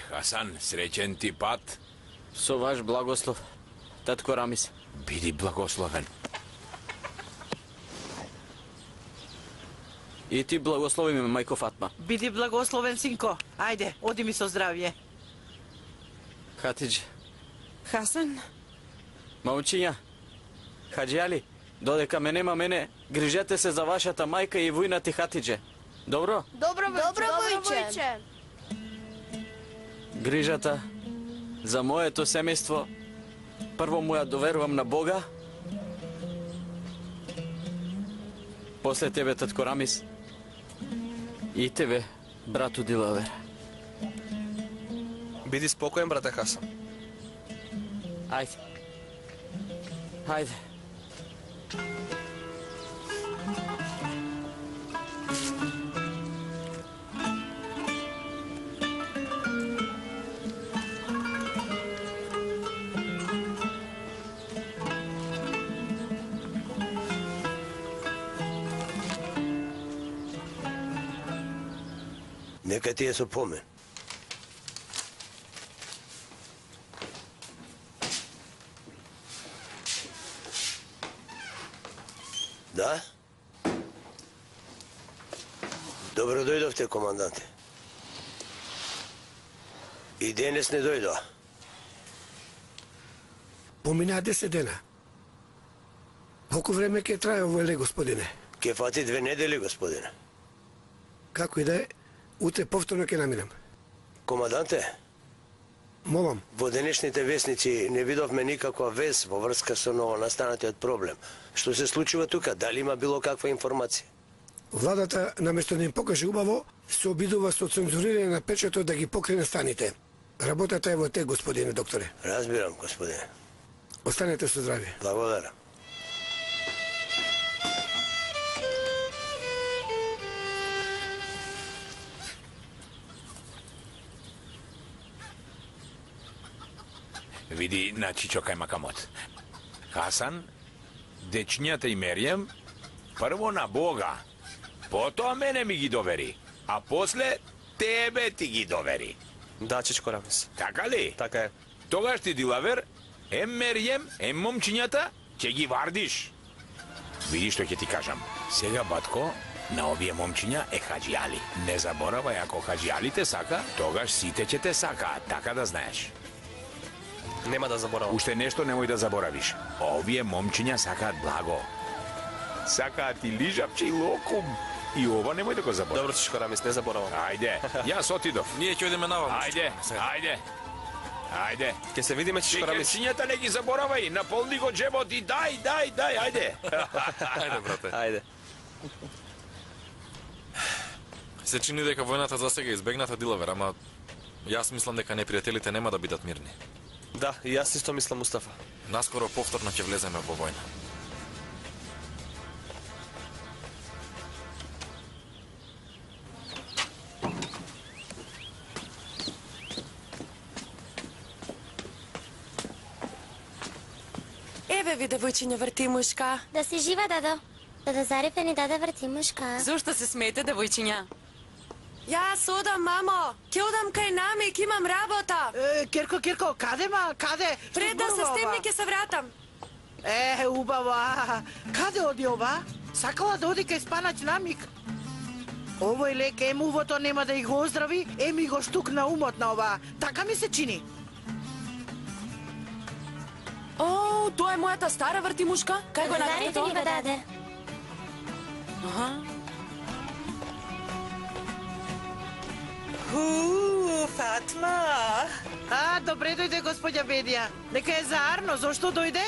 Хасан, среќен ти пат. Со ваш благослов, татко Рамис. Биди благословен. И ти благослови ме, мајко Фатма. Биди благословен, синко. Ајде, оди ми со здравје. Хатидже. Хасан? Момчиња, Хаджи Али, додека ме нема мене, грижете се за вашата мајка и војнати Хатидже. Добро? Добро, војче. Грижата за моето семејство, прво му ја доверувам на Бога, после тебе, татко Рамис, и тебе, брату Дилавер. Биди спокоен, брате Хасан. Ајде. Ајде. Нека ти е со помен. Да? Добро дојдовте, команданте. И денес не дојдоа. Поминаа 10 дена. Колку време ќе трае овој лек, господине? Ке фати 2 недели, господине. Како и да е, утре повторно ќе наминам. Команданте, молам. Во денешните весници не видовме никаква вест во врска со новонастанатиот проблем. Што се случува тука? Дали има било каква информација? Владата, наместо да им покаже убаво, се обидува со цензурирање на печатот да ги покрине станите. Работата е во тек, господине докторе. Разбирам, господине. Останете со здравје. Благодарам. Види на Чичо кај Макамот. Хасан, дечињата и Меријем, прво на Бога, потоа мене ми ги довери, а после тебе ти ги довери. Да, Чичко Рамис. Така ли? Така е. Тогаш ти, Дилавер, ем Меријем, ем момчињата, ќе ги вардиш. Види што ќе ти кажам. Сега, батко, на овие момчиња е Хаджи Али. Не заборавај, ако Хаджи Али те сака, тогаш сите ќе те сакаат, така да знаеш. Нема да заборавам. Уште нешто немој да заборавиш. Овие момчиња сакаат благо. Сакаат и лижапче и локум. И ова немој да го заборавиш. Добро, Чичко Рамис, не заборавам. Ајде, јас отидов. Ние ќе одиме наваму. Ајде, ајде. Ајде. Ке се видиме, Чичко Рамис. Чикерчињата не ги заборавај, наполни го джебот и дај, ајде. Ајде, брате. Ајде. Се чини дека војната засега избегната, Дилавер, ама јас мислам дека непријателите нема да бидат мирни. Да, и јас исто мислам, Мустафа. Наскоро повторно ќе влеземе во војна. Еве ви, девојчиња вртимушка. Да си жива, дадо. Дадо Зарифе ни даде вртимушка. Зошто се смеете, девојчиња? Јас одам, мамо. Ќе одам кај Намик, имам работа. Кирко, каде, каде? Пред да се стемни ќе се вратам. Убаво. Каде оди ова? Сакала да оди кај спанач Намик. Овој лек емувото нема да и го оздрави, еми го штукна умот на ова. Така ми се чини. О, тоа е мојата стара вртимушка. Кај го најдете Зарифе ни го тоа? даде. Аха. Фатма. Добре дојде, господја Бедија. Нека е за Арно, зошто дојде?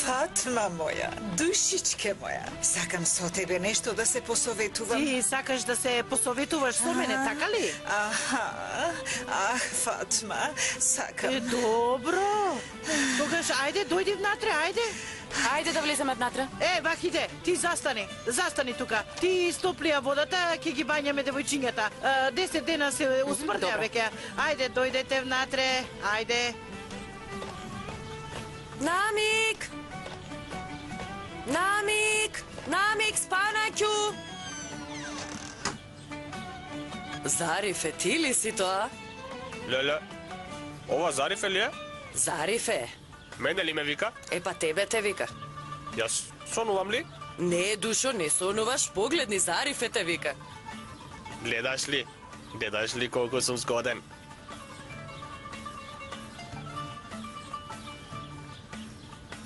Фатма моја, душичке моја. Сакам со тебе нешто да се посоветувам. Ти сакаш да се посоветуваш со мене, така ли? Фатма, сакам. Добро. Тогаш, ајде, дојди внатре, ајде. Ајде да влеземе внатре. Вахиде, ти застани тука. Ти истоплија водата, ќе ги бањаме девојчињата. 10 дена се усмртја веќе. Ајде, дојдете внатре, ајде. Намик! Намик! Намик, спанаќу! Зарифе, ти ли си тоа? Леле, ова Зарифе ли е? Зарифе. Мене ли ме вика? Па тебе те вика. Јас сонувам ли? Не, душо, не сонуваш, погледни, Зарифе те вика. Гледаш ли? Гледаш ли колку сум згоден?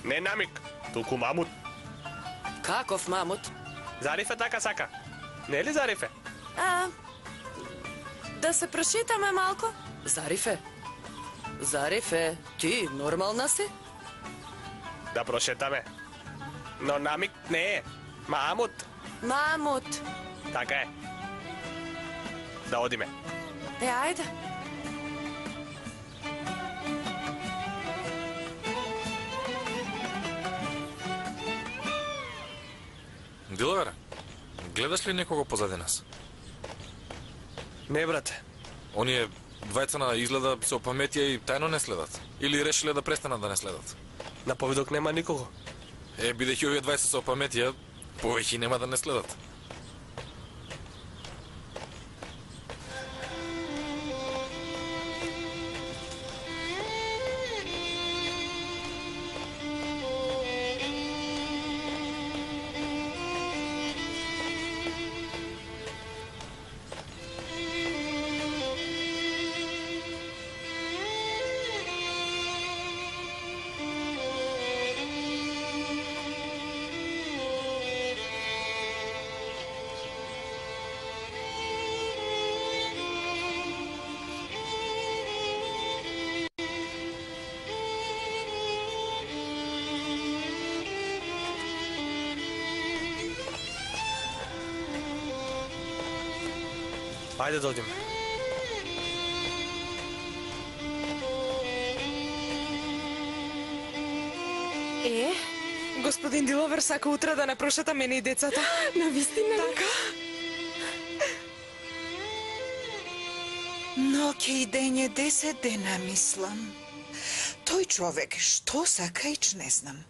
Не намик, туку мамут. Каков мамут? Зарифе така сака. Не е ли Зарифе? Да се прошетаме малку? Зарифе? Зарифе, ти нормална си? Да прошетаме. Но намик не е. Мамут. Мамут. Така е. Да одиме. Ајде. Диловера, гледаш ли некого позади нас? Не, брате. Оние двајца на изгледа се опаметија и тајно не следат. Или решиле да престанат да не следат. На повидок нема никого. Бидејќи овие двајца се опаметија, повеќе нема да не следат. Ајде да одиме. Господин Диловер сака утре да не прошета мене и децата. Навистина ли? Така. Ноќе и дење 10 дена, мислам. Тој човек, што сака, ич не знам.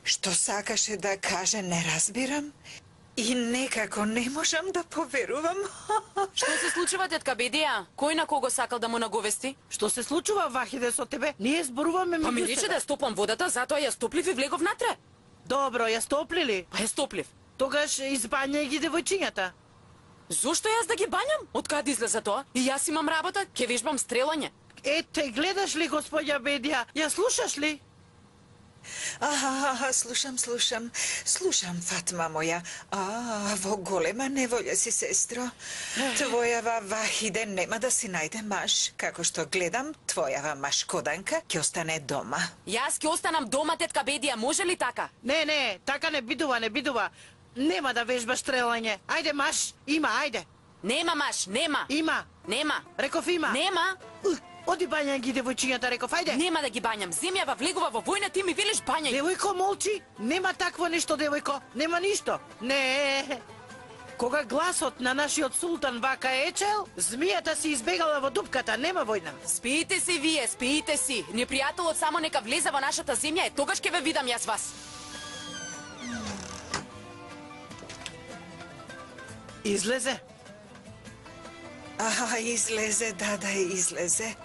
Што сакаше да каже, не разбирам. И некако не можам да поверувам. Што се случува, тетка Бедија? Кој на кого сакал да му наговести? Што се случува, Вахиде, со тебе? Ние зборуваме Па ми меѓу рече себе. да ја стопам водата, затоа ја стоплив и влегов натре. Добро, ја стоплили? Па ја стоплив. Тогаш избањај ги девојчињата. Зошто јас да ги банјам? Од каде излезе тоа? И јас имам работа, ќе вежбам стрелање. Ете, гледаш ли, господја Бедија? Ја слушаш ли? Слушам. Слушам, Фатма моја. Во голема неволја си, сестро. Твојава Вахиде нема да си најде маж. Како што гледам, твојава машкоданка ќе остане дома. Јас ќе останам дома, тетка Бедија, може ли така? Не, така не бидува. Нема да вежбаш стрелање. Ајде, маш, има, ајде. Нема маш, нема. Има. Нема. Реков има. Нема. Оди бањај ги девојчињата, реков, ајде. Нема да ги бањам. Земјава влегува во војна, ти ми велиш бањај. Девојко, молчи. Нема такво нешто, девојко. Нема ништо. Не. Кога гласот на нашиот султан вака ечел, змијата си избегала во дупката, нема војна. Спиите си вие, спиите си. Непријателот само нека влезе во нашата земја, тогаш ќе ве видам јас вас. Излезе. Излезе, да, излезе.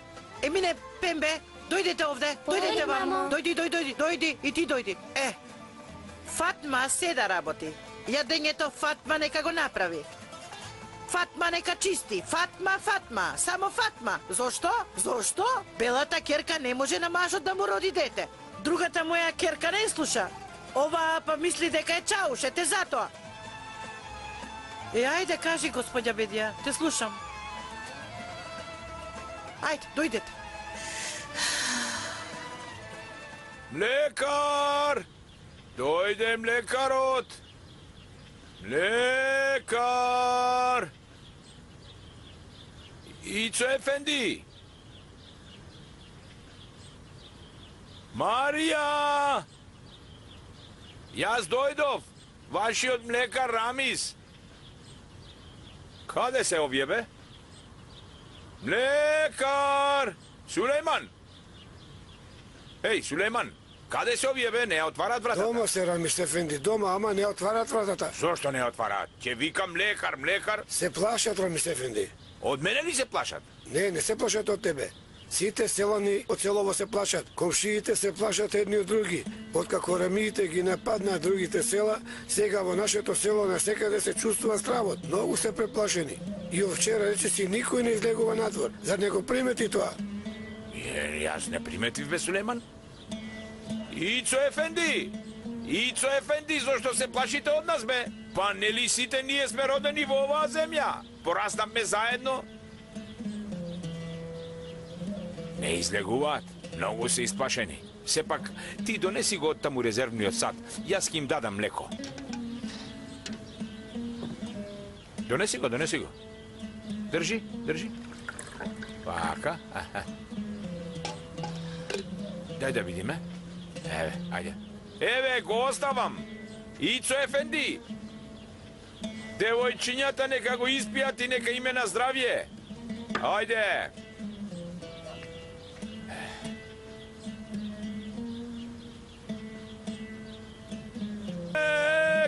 Емине, Пембе, дојдете овде, дојдете вам. мамо. Дојди, и ти дојди. Фатма се да работи. Јадењето Фатма нека го направи. Фатма нека чисти. Фатма, само Фатма. Зошто? Белата керка не може на мажот да му роди дете. Другата моја керка не слуша. Ова па мисли дека е чауш, ете затоа. Ајде, кажи, господја Бедија, те слушам. Ајде, дојдете. Млекар! Дојде млекарот! Млекар! Ицо Ефенди! Марија! Јас дојдов! Вашиот млекар Рамис! Каде се овие, бе? Млекар! Сулейман! Еј, Сулейман! Каде се овие бе? Не отварат вратата. Дома се, Рамис Ефенди, дома, ама не отварат вратата. Зошто не отварат? Ќе викам млекар. Се плашат, Рамис Ефенди. Од мене ли се плашат? Не се плашат од тебе. Сите селани од селово се плашат. Комшиите се плашат едни од други. Откако рамиите ги нападнаа другите села, сега во нашето село насекаде се чувствува стравот. Многу се преплашени. И од вчера речиси никој не излегува надвор. Зар не го примети тоа? Јас не приметив бе, Сулейман. Ицо Ефенди, зошто се плашите од нас бе? Па нели сите ние сме родени во оваа земја? Пораснавме заедно? Не излегуваат, многу се исплашени. Сепак, ти донеси го од таму резервниот сад, јас ќе им дадам млеко. Донеси го. Држи. Вака. Дај да видиме. Еве, ајде. Еве, го оставам. Ицо Ефенди. Девојчињата нека го испијат и нека име на здравје. Ајде.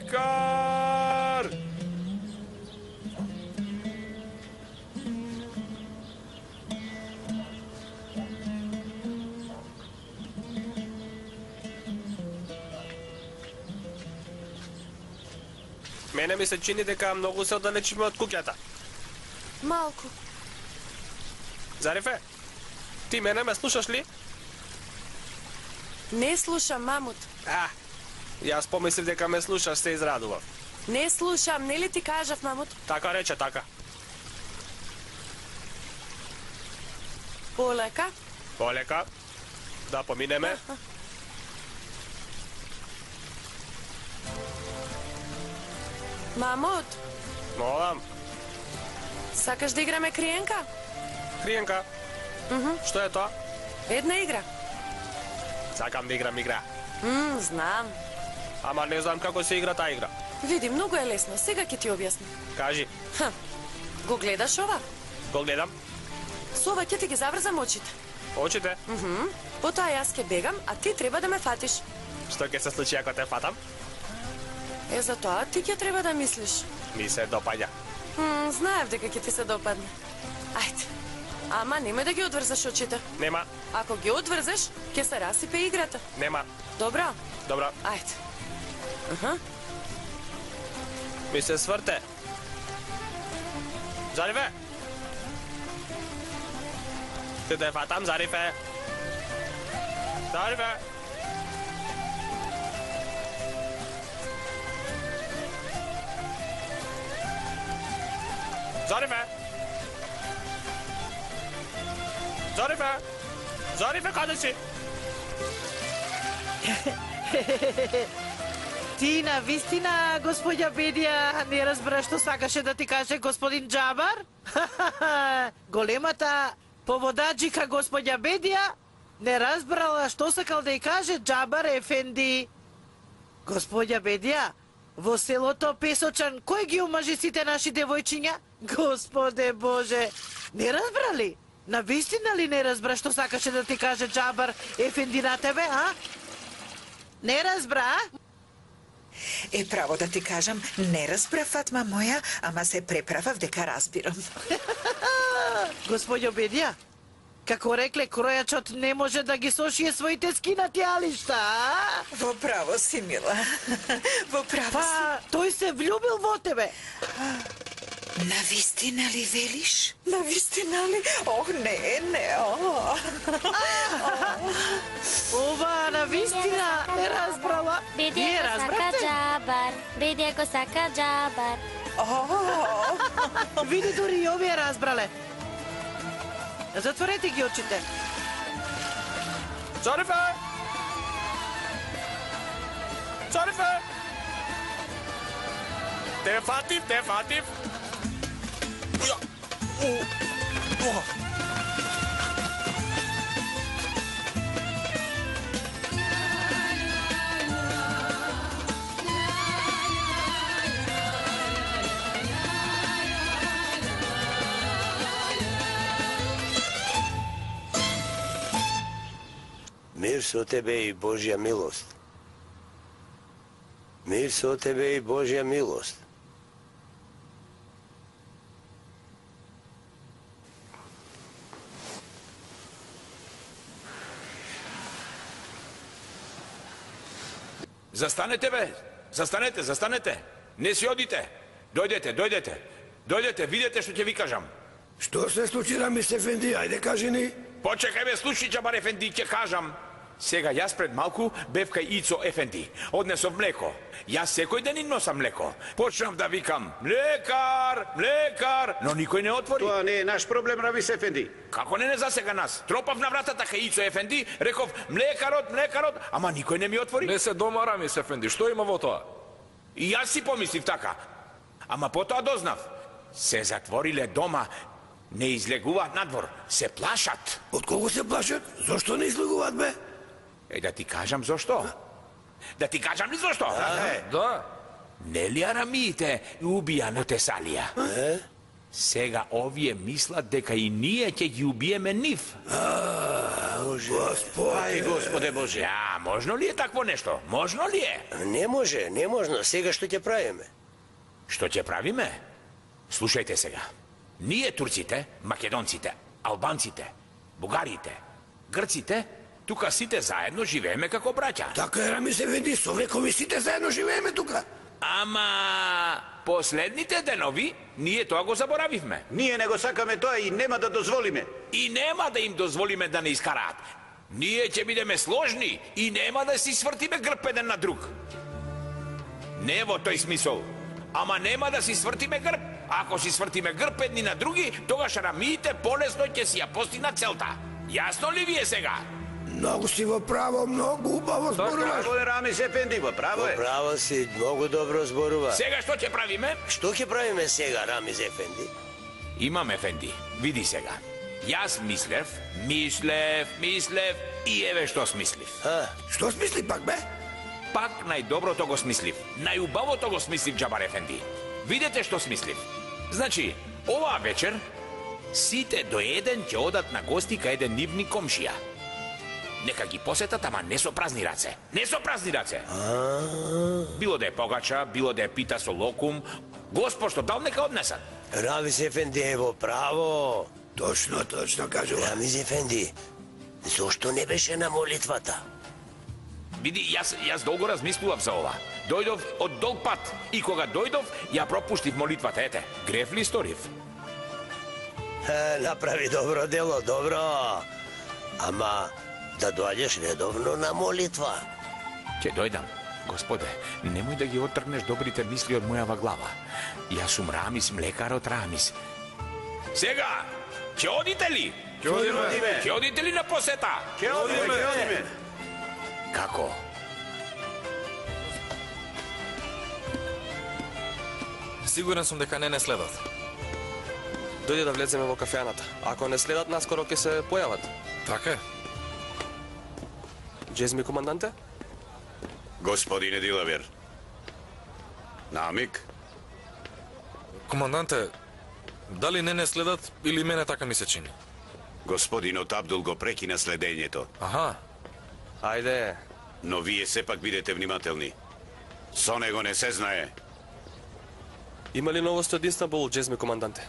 Лекар! Мене ми се чини дека многу се оддалечиме од куќата. Малку. Зарифе, ти мене ме слушаш ли? Не слушам, мамут. Јас помислив дека ме слушаш, се израдував. Не слушам, нели ти кажав, мамут? Така рече, така. Полека. Полека. Да поминеме. Мамут, Молам. сакаш да играме криенка? Криенка. Што е тоа? Една игра. Сакам да играм игра. Знам. Ама не знам како се игра таа игра. Види, многу е лесно. Сега ќе ти објаснам. Кажи. Го гледаш ова? Го гледам. Со ова ќе ти ги заврзам очите. Очите? Потоа јас ќе бегам, а ти треба да ме фатиш. Што ќе се случи ако те фатам? За тоа ти ќе треба да мислиш. Ми се допаѓа. Знаев дека ќе ти се допадне. Ајде. Ама немој да ги одврзаш очите. Нема. Ако ги одврзеш, ќе се расипе играта. Нема. Добро? Добро. Ајде. Ми се сврте. Зарифе. Ти да фатам, Зарифе. Зарифе. Зарифе. Зарифе, каде си? Ти на вистина, господја Бедија, не разбра што сакаше да ти каже господин Джабар? Големата поводаджика господја Бедија не разбрала што сакал да ја каже Джабар Ефенди. Господја Бедија, во селото Песочан, кој ги омажи сите наши девојчиња? Господе Боже, не разбрали? На вистина ли не разбра што сакаше да ти каже Джабар Ефенди на тебе, а? Не разбра? Право да ти кажам, не разбрав, Фатма моја, ама се преправав дека разбирам. Господјо Бедија, како рекле, кројачот не може да ги сошие своите скинати алишта, а? Во право си, мила. Во право си. Па, тој се влюбил во тебе. На вистина ли велиш? На вистина ли? Ох, не. Ова на вистина не разбрала. Бедија го сака Джабар. Бедија го сака Джабар. Види, дури и овие разбрале. Затворете ги очите. Зарифе! Зарифе! Те фатив! Мир со тебе и Божја милост. Мир со тебе и Божја милост. Застанете, бе! Застанете! Не си одите! Дојдете, видете што ќе ви кажам. Што се случи, Рамис ефенди? Ајде кажи ни. Почекај, бе, слушни, Џабар ефенди, ќе кажам. Сега јас пред малку бев кај Ицо ефенди. Однесов млеко. Јас секој ден им носам млеко. Почнав да викам млекар, но никој не отвори. Тоа не е наш проблем, Рамис ефенди. Како не засега нас? Тропав на вратата кај Ицо ефенди, реков млекарот, ама никој не ми отвори. Не се дома, Рамис ефенди, што има во тоа? И јас си помислив така. Ама потоа дознав. Се затвориле дома, не излегуваат надвор, се плашат. Од кого се плашат? Зошто не излегуваат, бе? Да ти кажам зошто. Да ти кажам ли зошто? Да. Нели арамиите убија на Тесалија? Сега овие мислат дека и ние ќе ги убиеме нив. Господи. Господе Боже. Ја, можно ли е такво нешто? Можно ли е? Не можно. Сега што ќе правиме? Што ќе правиме? Слушајте сега. Ние турците, македонците, албанците, бугарите, грците, тука сите заедно живееме како браќа. Така е, Рамис ефенди, со векови сите заедно живееме тука. Ама последните денови ние тоа го заборавивме. Ние не го сакаме тоа и нема да дозволиме. И нема да им дозволиме да не искараат. Ние ќе бидеме сложни и нема да си свртиме грб еден на друг. Не во тој смисол. Ама нема да си свртиме грб. Ако си свртиме грб едни на други, тогаш арамиите полесно ќе си ја постигнат целта. Јасно ли ви е сега? Многу си во право, многу убаво зборуваш. Тоа е Рамис ефенди, во право е. Право си, многу добро зборува. Сега што ќе правиме? Што ќе правиме сега, Рамис ефенди? Имам ефенди, види сега. Јас мислев и еве што смислив. Што смисли пак, бе? Пак најдоброто го смислив. Најубавото го смислив, Џабар ефенди. Видете што смислив. Значи, оваа вечер сите до еден ќе одат на гости кај еден нивни комшија. Нека ги посетат, ама не со празни раце. Било да е погача, било да е пита со локум, Господ што дал нека однесат. Рамис ефенди е во право. Точно кажува. Рамис ефенди, зошто не беше на молитвата? Види, јас долго размислував за ова. Дојдов од долг пат и кога дојдов, ја пропуштив молитвата, ете. Греф ли сторив? Направи добро дело, добро. Ама да доаѓаш редовно на молитва. Ќе дојдам. Господе, немој да ги оттргнеш добрите мисли од мојава глава. Јас сум Рамис, млекарот Рамис. Сега, ќе одите ли? Ќе одите ли на посета? Ќе одиме. Како? Сигурен сум дека не следат. Дојде да влеземе во кафеаната. Ако не следат, наскоро ќе се појават. Така е. Джезми, команданте? Господине Дилавер. Намик? Команданте, дали не следат или мене така ми се чини? Господинот Абдул го прекина следењето. Аха. Ајде. Но вие сепак бидете внимателни. Со него не се знае. Има ли новост од Истанбул, Джезми, команданте?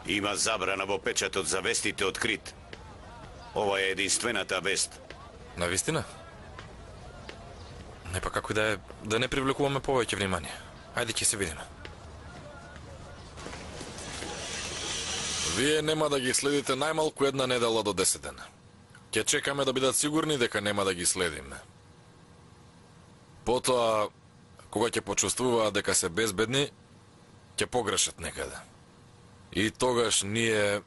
Има забрана во печатот за вестите открит. Ова е единствената вест. Навистина? Не па како да не привлекуваме повеќе внимание. Ајде ќе се видиме. Вие нема да ги следите најмалку една недела до 10 дена. Ќе чекаме да бидат сигурни дека нема да ги следиме. Потоа, кога ќе почувствуваат дека се безбедни, ќе погрешат некаде. И тогаш ние...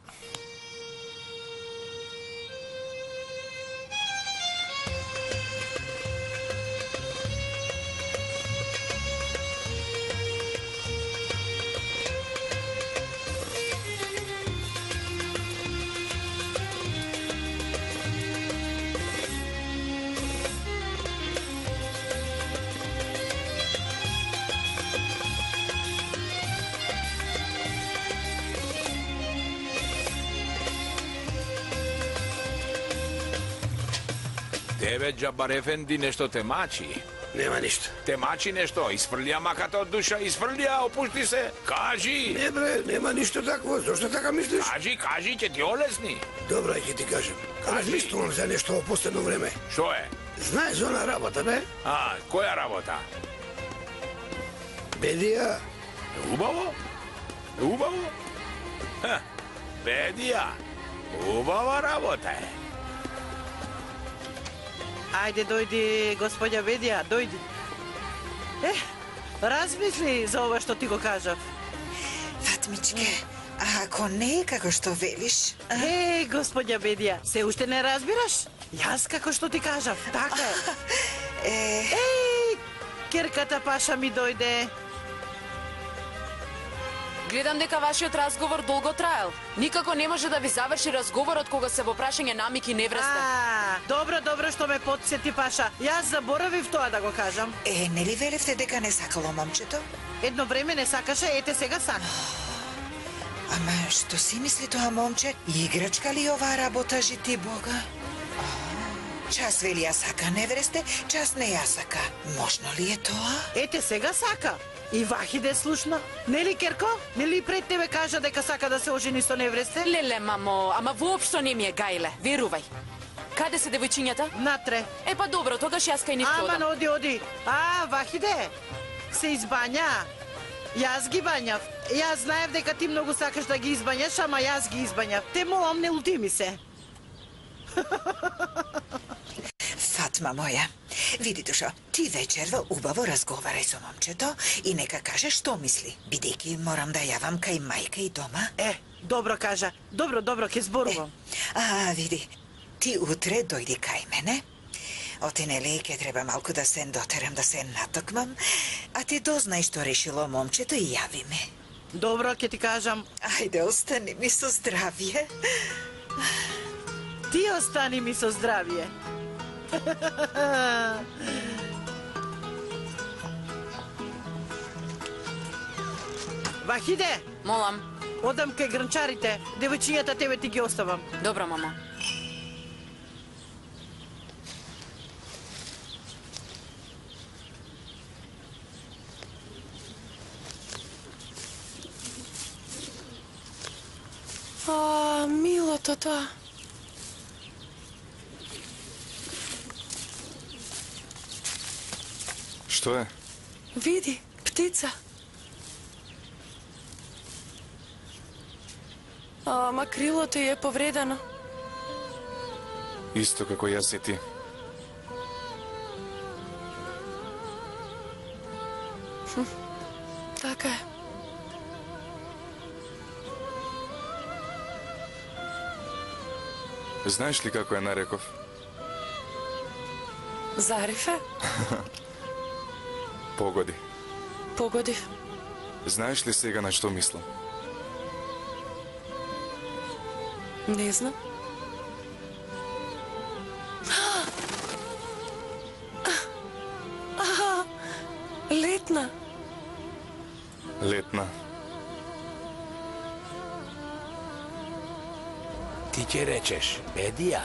Тебе, Джабар Ефенди, нешто те мачи. Нема ништо. Те мачи нешто, изфрлија маката од душа, изфрлија, опушти се. Кажи. Не бре, нема ништо такво. Зошто така мислиш? Кажи, ќе ти олесни. Добро, ќе ти кажам. Размислувам за нешто во последно време. Што е? Знаеш за она работа, бе? Која работа? Бедија. Убаво? Бедија. Убава работа е. Ајде, дојди, господја Бедија, дојди. Размисли за ова што ти го кажав. Фатмичке, ако не е како што велиш... господја Бедија, се уште не разбираш? Јас како што ти кажав, така е. Керката Паша ми дојде. Гледам дека вашиот разговор долго траел. Никако не може да ви заврши разговорот кога се во прашање намик и невреста. Добро што ме потсети, Паша. Јас заборавив тоа да го кажам. Нели велевте дека не сакало момчето? Едно време не сакаше, ете сега сака. Ама што си мисли тоа момче? Играчка ли оваа работа, жити Бога? Час вели ја сака невресте, час не ја сака. Можно ли е тоа? Ете сега сака. И Вахиде слушна. Нели, Керко? Нели пред тебе кажа дека сака да се ожени со невресте? Леле, мамо, ама воопшто не ми е гајле, верувај. Каде се девојчињата? Натре. Па добро, тогаш јас кај нив одам. Ама оди. Вахиде, се избања. Јас ги бањав. Јас знаев дека ти многу сакаш да ги избањаш, ама јас ги избањав. Те молам, не лути ми се. Фатма моја, види душо, ти вечерва убаво разговарај со момчето и нека каже што мисли, бидејќи морам да јавам кај мајка и дома. Добро кажа. Добро, ќе зборувам. Види, ти утре дојди кај мене. Оти нели ќе треба малку да се дотерам, да се натокмам, а ти дознај што решило момчето и јави ме. Добро, ќе ти кажам. Ајде, остани ми со здравје. Ти остани ми со здравје. Вахиде! Молам. Одам кај гранчарите. Девојчињата тебе ти ги оставам. Добро, мамо. Милото тоа. Што е? Види, птица. Ама крилото е повредено. Исто како јас и ти. Така е. Знаеш ли како ја нареков? Зарифе? Погоди. Погоди. Знаеш ли сега на што мислам? Не знам. Летна. Летна. Ти ќе речеш, Бедија,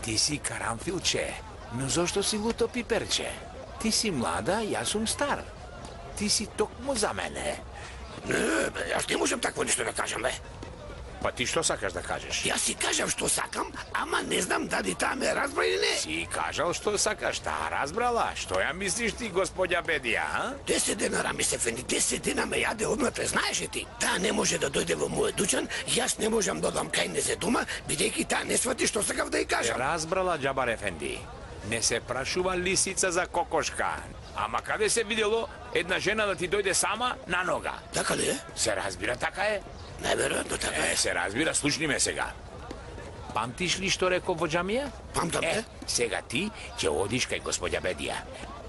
ти си карамфилче, но зошто си луто пиперче? Ти си млада, јас сум стар. Ти си токму за мене. Не, бе, јас не можам такво нешто да кажам, бе. Па ти што сакаш да кажеш? Јас си кажам што сакам, ама не знам дали таа ме разбра или не. Си кажал што сакаш, таа разбрала. Што ја мислиш ти, господја Бедија, 10 дена, Рамис Ефенди, 10 дена ме јаде однатре, знаеш ли ти? Таа не може да дојде во мојот дуќан, јас не можам да одам кај незе дома, бидејќи таа не свати што сакав да ја кажам. Разбрала, Џабар Ефенди. Не се прашува лисица за кокошка. Ама каде се видело една жена да ти дојде сама на нога? Така ли е? Се разбира, така е. Најверојатно така е. Се разбира, слушни ме сега. Памтиш ли што реков во џамија? Памтам, сега ти ќе одиш кај господја Бедија.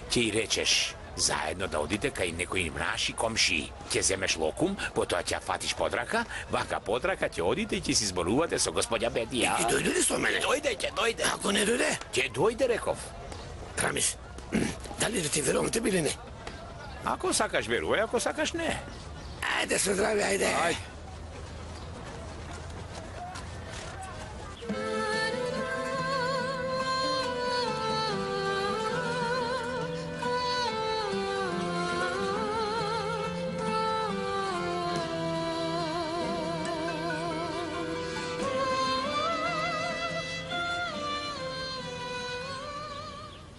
Ќе и речеш, заедно да одите кај некои наши комши. Ќе земеш локум, потоа ќе фатиш подрака, вака подрака ќе одите и ќе си зборувате со господја Бедија. И ќе дојде ли со мене? Ќе дојде. Ако не дојде? Ќе дојде, реков. Рамис, дали да ти верувам тебе или не? Ако сакаш верувај, ако сакаш не. Ајде со здраве, ајде.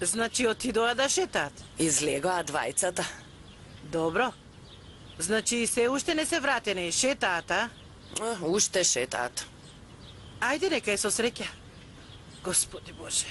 Значи отидоа да шетаат. Излегоа двајцата. Добро. Значи се уште не се вратени, шетаат, а? Уште шетаат. Ајде, нека е со среќа. Господи Боже.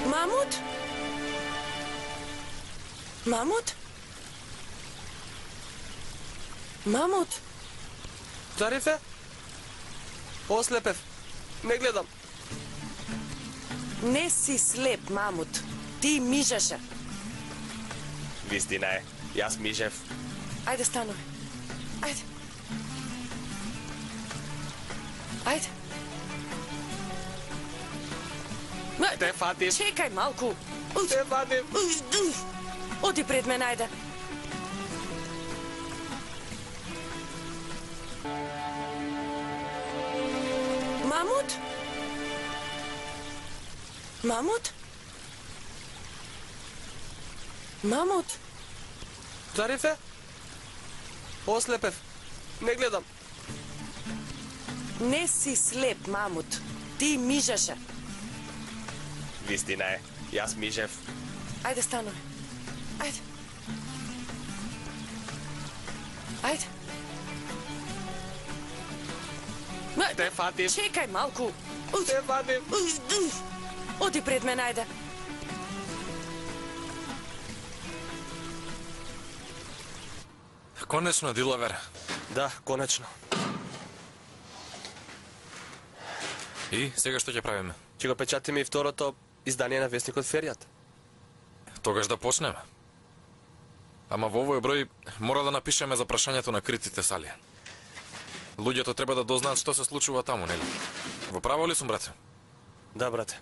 Мамут? Мамут? Мамут? Зарифе? Ослепев. Не гледам. Не си слеп, Мамут. Ти мижеше. Вистина е. Јас мижев. Ајде, стануј. Ајде. Ајде. Те фатим. Чекај малку. Те фатим. Оди пред мен, ајде. Мамут? Мамут? Мамут? Зарифе? Ослепев. Не гледам. Не си слеп, Мамут. Ти мижеше. Вистина е. Јас мижев. Ајде, стануј. Ајде. Ајде. Те фатим. Чекај малку. Те фатим. Оди пред мен, ајде. Конечно, Дилавер. Да, конечно. И сега што ќе правиме? Ќе го печатиме и второто издание на вестникот Феријат. Тогаш да почнеме. Ама во овој број мора да напишеме за прашањето на критите сали. Луѓето треба да дознаат што се случува таму, нели? Во право ли сум, брате? Да, брате.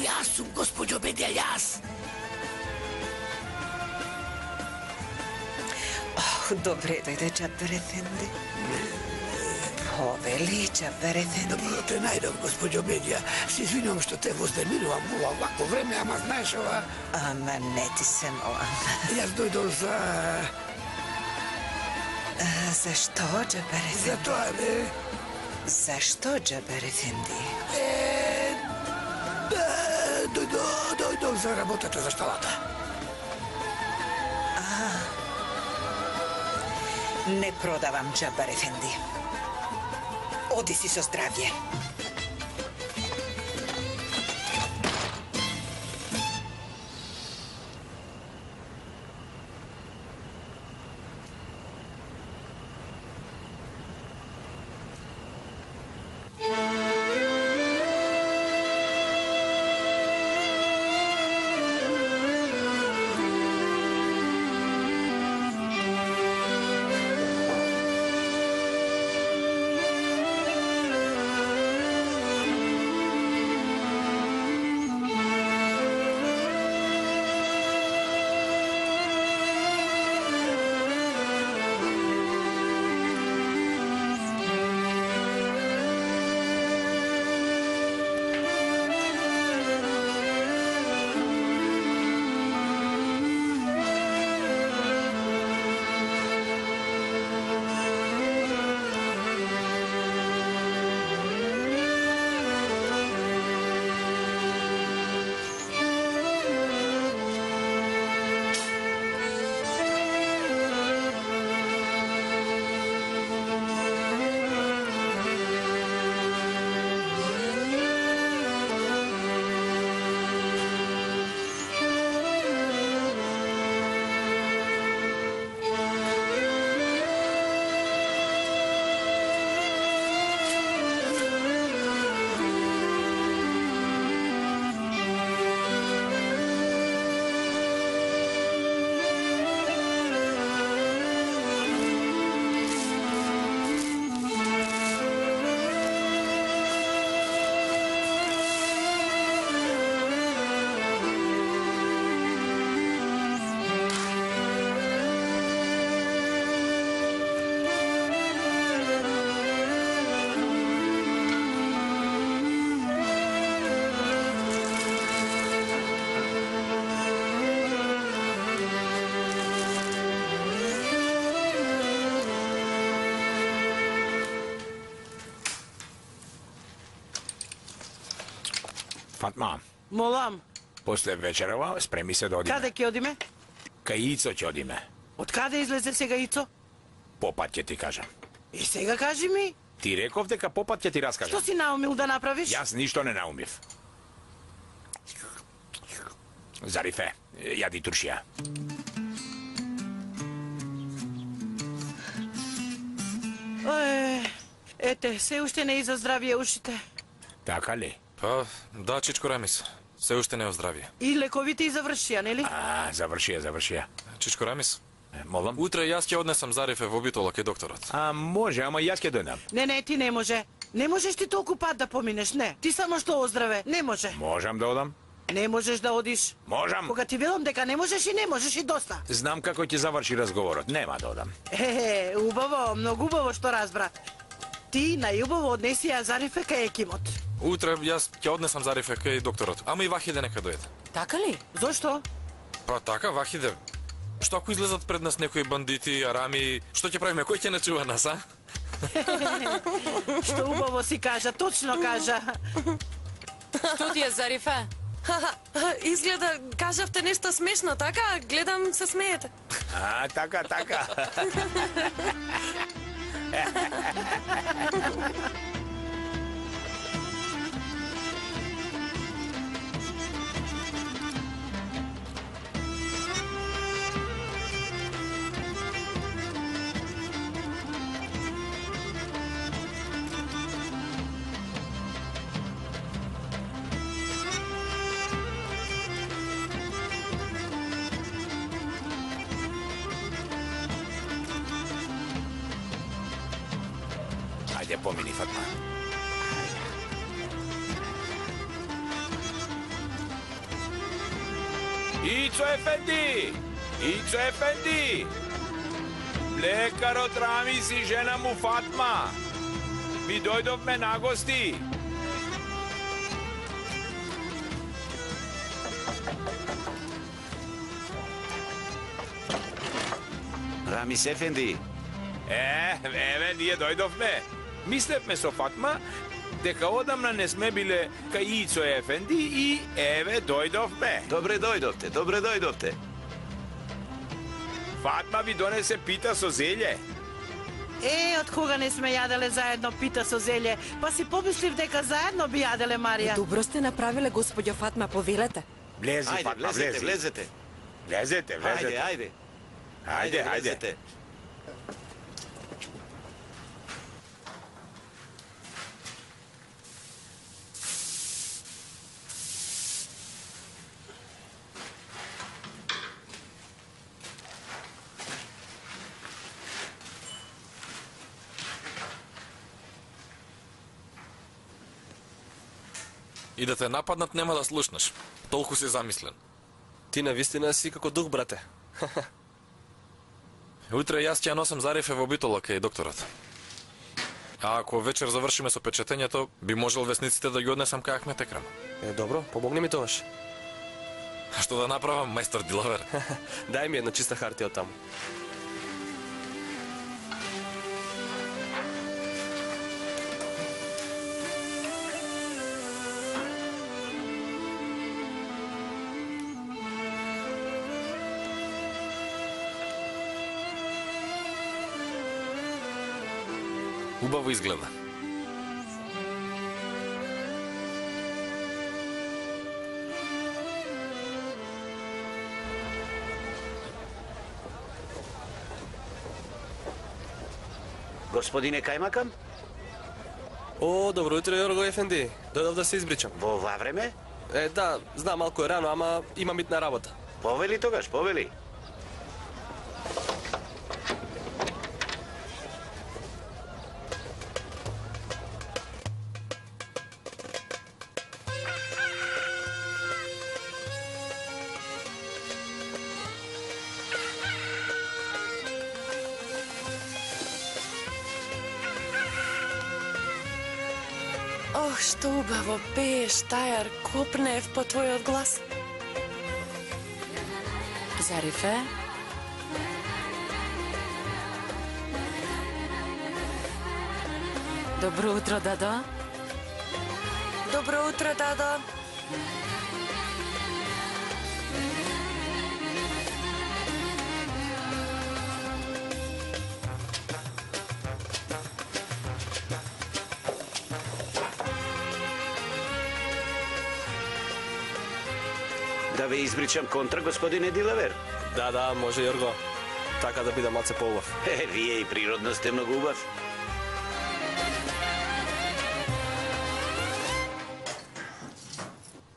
Јас сум, госпоđo Бедја, јас. Добре дојде, Џабер ефенди. Повели, Џабер ефенди. Доброто е најдов, госпоđo Бедја. Се извинувам што те воздемирувам ова вако време, ама знаеш ова... Ама не ти се молам. Јас дојдов за... Зашто, Џабер ефенди? За тоа, бе. Зашто, Џабер ефенди? Дојдов за работата за шталата. Не продавам, Џабер ефенди. Оди си со здравје. Фатма, Молам, после вечерава спреми се да одиме. каде ќе одиме? Кај Ицо ќе одиме. Од каде излезе сега Ицо? Попат ќе ти кажам. И сега кажи ми, Ти реков дека попат ќе ти што раскажам. си наумил да направиш? Јас ништо не наумив. Зарифе, јади туршија. Ете, се уште не изо здравие ушите. Така ли? Па, да, Чичко Рамис. Се уште не е оздравие. И лековите и завршија, нели? Завршија. Чичко Рамис? Молам? Утре јас ќе однесам Зарифе во битола кај докторот. Може, ама јас ќе дојдам. Не, ти не може. Не можеш ти толку пат да поминеш, не. Ти само што оздраве, не може. Можам да одам? Не можеш да одиш. Можам. Кога ти велам дека не можеш и не можеш и доста. Знам како ќе заврши разговорот, нема да одам. Убаво, многу убаво што разбра. Ти најубаво однеси ја Зарифе кај екимот. Утре јас ќе однесам Зарифе кај докторот. Ама и Вахиде нека дојде. Така ли? Зошто? Па така, Вахиде. Што ако излезат пред нас некои бандити, арами, што ќе правиме? Кој ќе не чува нас, а? Што убаво си кажа, точно кажа. Што ти е, Зарифе? Изгледа, кажавте нешто смешно, така? Гледам, се смеете. Така. Ајде, помини, Фатма. Ицо Ефенди! Лекарот Рамис и жена му Фатма. Ви дојдовме на гости. Рамис Ефенди. Еве, ние дојдовме. Мислевме со Фатма дека одамна не сме биле кај Ицо Ефенди и еве дојдовме. Добре дојдовте. Фатма ви донесе пита со зелје. Од кога не сме јаделе заедно пита со зелје, па си помислив дека заедно би јаделе, Марија. Добро сте направиле, господјо Фатма, повелете. Влези, Фатма, влези. Влезете. Ајде. И да те нападнат нема да слушнеш. Толку си замислен. Ти навистина си како дух, брате. Утре јас ќе ја носам Зарифе во битола кај докторот. А ако вечер завршиме со печетењето, би можел весниците да ги однесам кај Ахмет Екрам. Добро, помогни ми тогаш. А што да направам, мајстор дилавер? Дај ми една чиста хартија од таму. Убаво изгледа. Господине Кајмакам? О, добро утро, Јорго Ефенди. Дојдов да се избричам. Во ова време? Да, знам, малку е рано, ама имам итна работа. Повели тогаш, повели. Ох, што убаво пееш, Тајар, копнеев по твојот глас. Зарифе? Добро утро, Дадо. Добро утро, Дадо. Да ве избричам контра, господине Дилавер? Да, може, Јорго. Така да биде малце поубав. Вие и природно сте многу убав.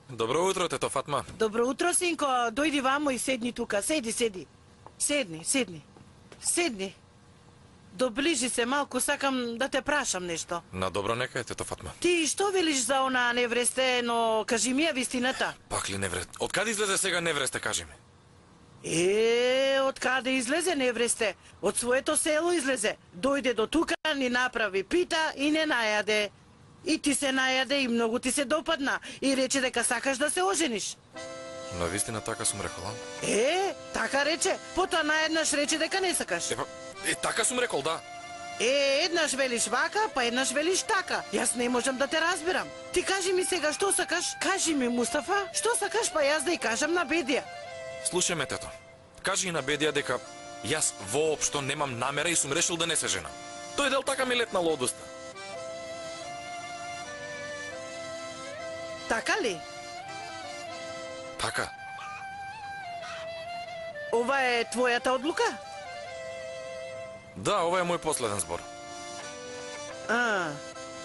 Добро утро, тето Фатма. Добро утро, синко. Дојди вамо и седни тука. Седни. Седни. Доближи се малку, сакам да те прашам нешто. На добро нека е, тето Фатма. Ти што велиш за она невресте, но кажи ми ја вистината. Пак ли неврест? Од каде излезе сега невресте, кажи ми? Од каде излезе невресте? Од своето село излезе. Дојде до тука, ни направи пита и не најаде. И ти се најаде и многу ти се допадна. И рече дека сакаш да се ожениш. На вистина така сум рекол, а? Така рече. Потоа наеднаш рече дека не сакаш. Така сум рекол, да. Еднаш велиш вака, па еднаш велиш така. Јас не можам да те разберам. Ти кажи ми сега што сакаш? Кажи ми, Мустафа, што сакаш, па јас да ја кажам на Бедија. Слушај ме, тето. Кажи и на Бедија дека јас воопшто немам намера и сум решил да не се женам. Тој дел така ми летнало од уста. Така ли? Така. Ова е твојата одлука? Да, ова е мој последен збор.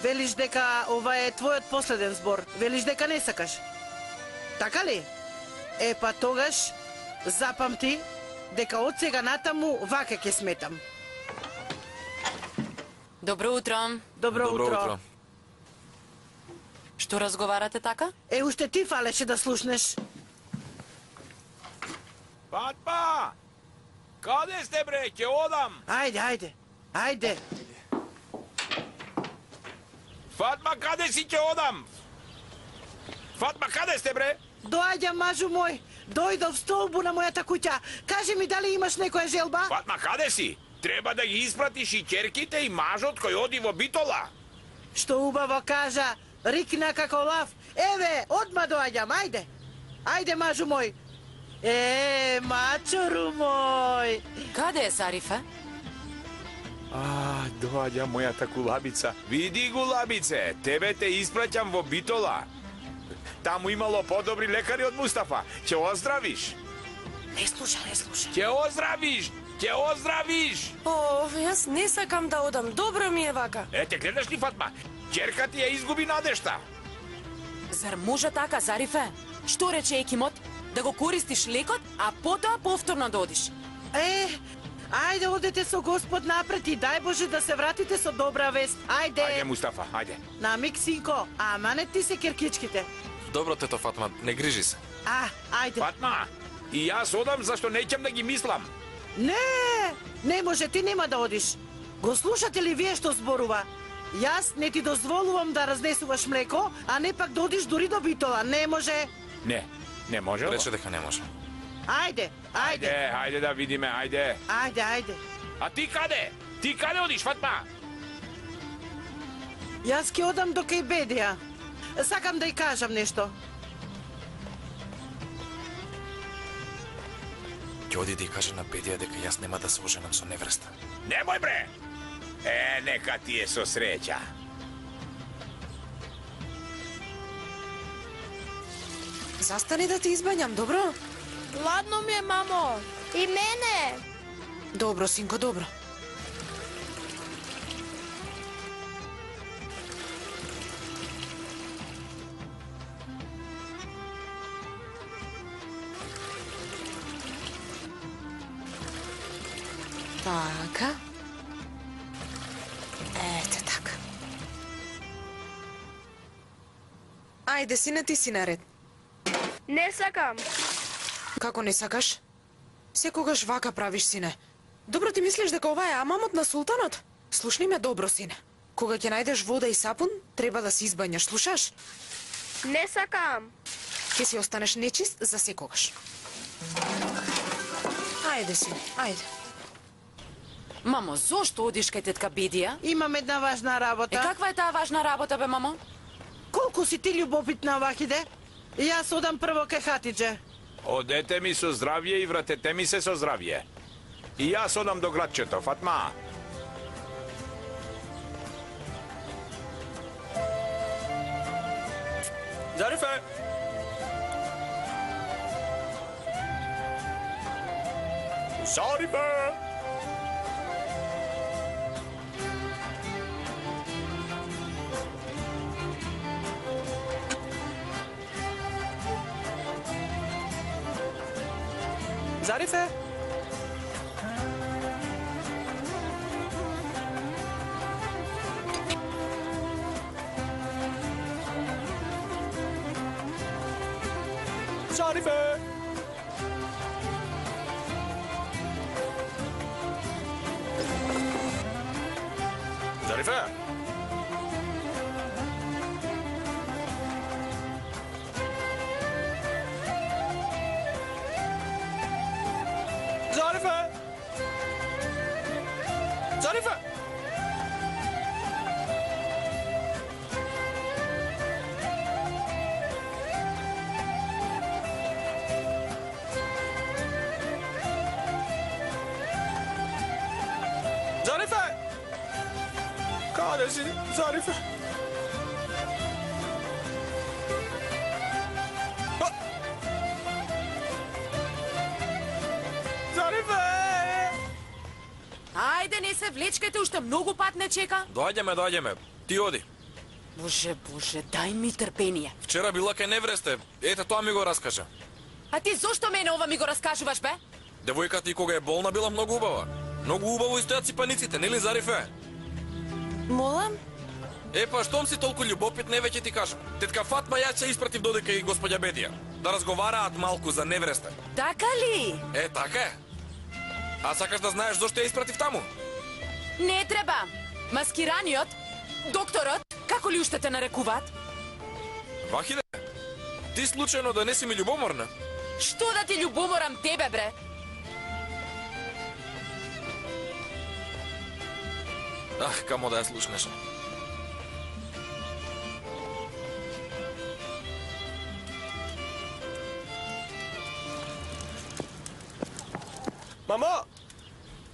Велиш дека ова е твојот последен збор. Велиш дека не сакаш. Така ли? Па тогаш запамти дека од сега натаму вака ќе сметам. Добро утро. Добро утро. Што разговарате така? Уште ти фалеше да слушнеш. Фатма! Каде сте, бре? Ќе одам. Ајде. Фатма, каде си, ќе одам? Фатма, каде сте, бре? Доаѓам, мажу мој. Дојдов столбу на мојата куќа. Кажи ми дали имаш некоја желба? Фатма, каде си? Треба да ги испратиш и ќерките и мажот кој оди во Битола. Што убаво кажа, рикна како лав. Еве, одма доаѓам, ајде. Ајде, мажу мој. Мачору мој. Каде е Зарифе? Доаѓа мојата кулабица. Види, кулабице, тебе те испраќам во Битола. Таму имало подобри лекари од Мустафа. Ќе оздравиш. Не слуша. Ќе оздравиш. Јас не сакам да одам. Добро ми е вака. Те гледаш ли, Фатма? Ќерка ти ја изгуби надежта. Зар може така, Зарифе? Што рече екимот? Да го користиш лекот, а потоа повторно да одиш. Ајде, одете со Господ напред и дај Боже да се вратите со добра вест. Ајде, Мустафа, ајде. Намик, синко, ама не ти се керкичките. Добро, тето Фатма, не грижи се. Ајде. Фатма, и јас одам зашто неќам да ги мислам. Не може, ти нема да одиш. Го слушате ли вие што зборува? Јас не ти дозволувам да разнесуваш млеко, а не пак да одиш дури до Битола. Не може. Не може. Рече дека не може. Ајде да видиме, ајде. Ајде. А ти каде? Ти каде одиш, Фатма? Јас ќе одам до кај Бедија. Сакам да ја кажам нешто. Ќе оди да ја каже на Бедија дека јас нема да се оженам со невреста. Немој, бре! Нека ти е со среќа. Застани да ти избањам, добро? Ладно ми е, мамо. И мене. Добро, синко, добро. Така. Ете така. Ајде, сине, ти си наред. Не сакам. Како не сакаш? Секогаш вака правиш, сине. Добро, ти мислиш дека ова е амамот на султанот? Слушни ме добро, сине. Кога ќе најдеш вода и сапун, треба да се избањаш, слушаш? Не сакам. Ќе си останеш нечист за секогаш. Ајде, сине, ајде. Мамо, зошто одиш кај тетка Бедија? Имам една важна работа. Каква е таа важна работа, бе, мамо? Колку си ти љубопитна, Вахиде? Јас одам прво ке Хатидже. Одете ми со здравје и вратете ми се со здравје. И јас одам до градчето, Фатма. Зарифе! Зарифе! Зарифе! Зарифе! Зарифе! Зарифе! Зарифе! Зарифе! Каде си, Зарифе? Зарифе! Ајде, не се влечкајте, уште многу пат не чека. Доаѓаме. Ти оди. Боже, дај ми трпение. Вчера била кај невресте. Ете, тоа ми го раскажа. А ти зошто мене ова ми го раскажуваш, бе? Девојката и кога е болна била многу убава. Многу убаво и стојат ципаниците, нели Зарифе? Молам? Па, штом си толку љубопит, не веќе ти кажам. Тетка Фатма ја ќе испратив додека и господја Бедија. Да разговараат малку за невресте. Така ли? Така е. А сакаш да знаеш зошто ја испратив таму? Не треба. Маскираниот, докторот, како ли уште те нарекуваат? Вахиде, ти случајно да не си ми љубоморна? Што да ти љубоморам тебе, бре? Камо да ја слушнеш. Мамо!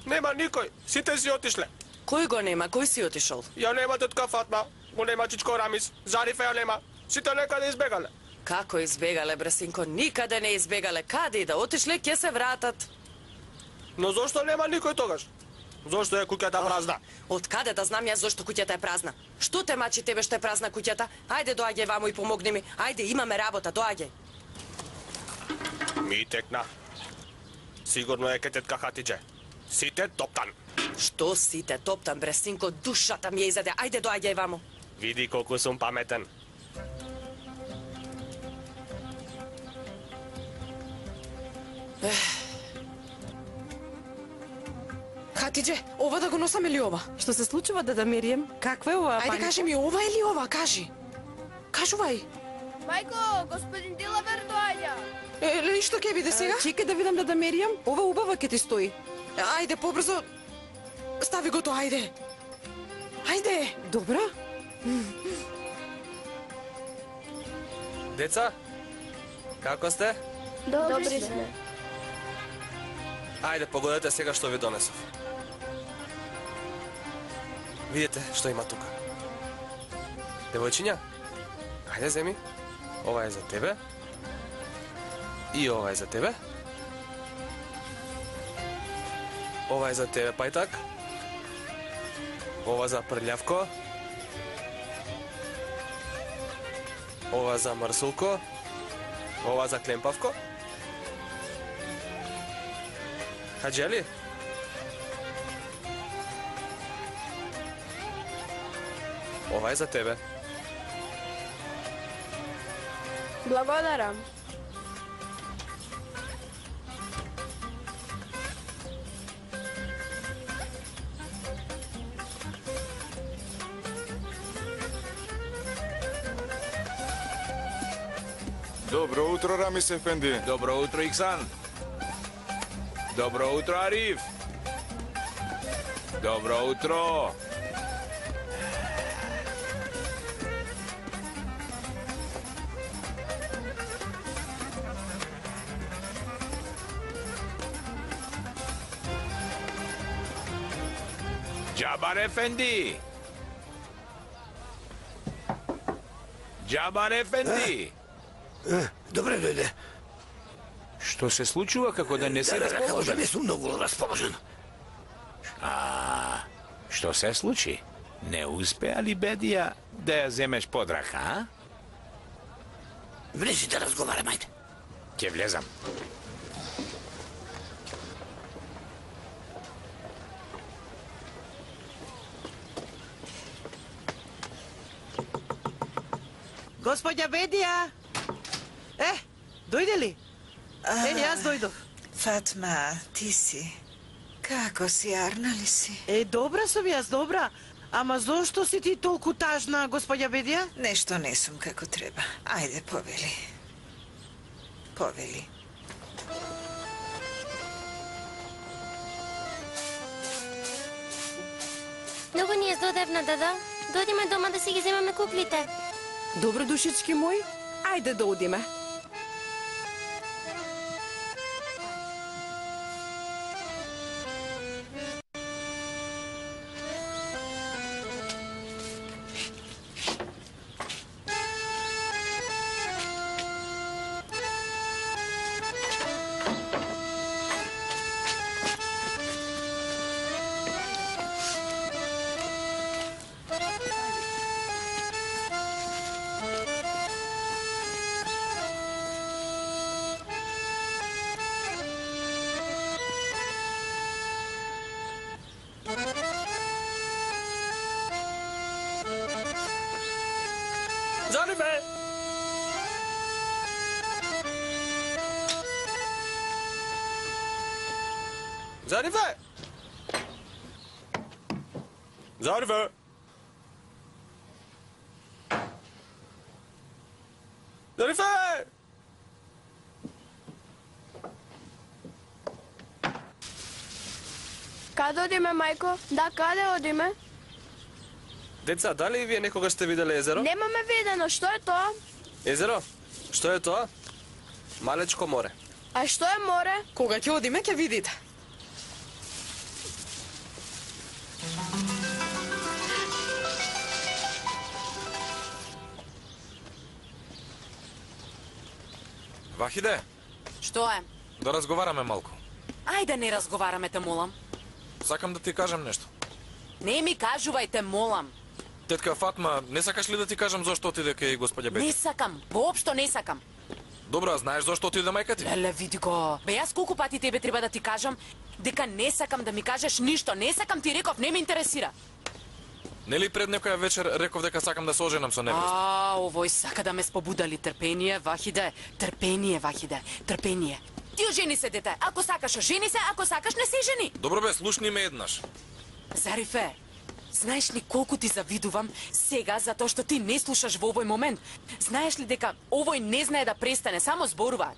Нема никој, сите си отишле. Кој го нема? Кој си отишол? Ја нема тетка Фатма, го нема чичко Рамис, Зарифе ја нема. Сите некаде избегале. Како избегале, бре синко? Никаде не избегале. Каде и да отишле, ќе се вратат. Но зошто нема никој тогаш? Зошто е куќата празна? Од каде да знам јас зошто куќата е празна? Што те мачи тебе што е празна куќата? Ајде доаѓај ваму и помогни ми. Ајде, имаме работа, доаѓај. Ми текна. Сигурно е ке тетка Хатидже. Сите топтан. Што сите топтан, бре синко, душата ми ја изаде. Ајде доаѓај ваму. Види колку сум паметен. Хатидже, ова да го носам или ова? Што се случува, дада Мирием? Каква е ова? Ајде кажи ми ова или ова, кажи. Кажувај. Мајко, господин Дилавер доаѓа. Еле, што ќе биде сега? Чекај да видам дада Мирием. Ова убава ќе ти стои. Ајде, побрзо. Стави го тоа, ајде. Ајде. Добра. Деца, како сте? Добри сме. Ајде, погодете сега што ви донесов. Видите што има тука. Девојчиња, ајде земи. Ова е за тебе. И ова е за тебе. Ова е за тебе, пајтак. Ова за прљавко. Ова за мрсулко. Ова за клемпавко. Хаџели? Ова е за тебе. Благодарам. Добро утро, Рамис ефенди. Добро утро, Иксан. Добро утро, Ариф. Добро утро. Джабар Ефенди! Джабар Ефенди! Добре дојде. Што се случува како да не се Да расположен? не сум многу расположен. Што се случи? Не успеа ли Бедија да ја земеш под рака, а? Влези да разговараме, ајде. Ќе влезам. Господја Бедија! Дојде ли? Јас дојдов. Фатма, ти си. Како си, арна ли си? Добра сум јас, добра. Ама зошто си ти толку тажна, господја Бедија? Нешто не сум како треба. Ајде, повели. Повели. Многу ни е здодевна, дада. Дојдеме дома да си ги земаме куклите. Добро, душички мој, ајде да одиме. Зарифе! Зарифе! Зарифе! Зарифе! Каде одиме, мајко? Да, каде одиме? Деца, дали и вие некогаш сте виделе езеро? Немаме видено, што е тоа? Езеро? Што е тоа? Малечко море. А што е море? Кога ќе одиме, ќе видите. Вахиде, Што е? да разговараме малку. Ајде не разговараме, те молам. Сакам да ти кажам нешто. Не ми кажувајте, молам. Тетка Фатма, не сакаш ли да ти кажам зошто отиде кај господја Бети? Не сакам, воопшто не сакам. Добро, а знаеш зошто отиде мајка ти? Леле, види го. Бе, јас колку пати тебе треба да ти кажам дека не сакам да ми кажеш ништо. Не сакам, ти реков, не ме интересира. Нели пред некоја вечер реков дека сакам да се оженам со невеста? Овој сака да ме спобудали. Трпение, Вахиде. Трпение, Вахиде. Трпение. Ти ожени се, дете. Ако сакаш, ожени се. Ако сакаш, не се жени. Добро бе, слушни ме еднаш. Зарифе, знаеш ли колку ти завидувам сега затоа што ти не слушаш во овој момент? Знаеш ли дека овој не знае да престане, само зборува.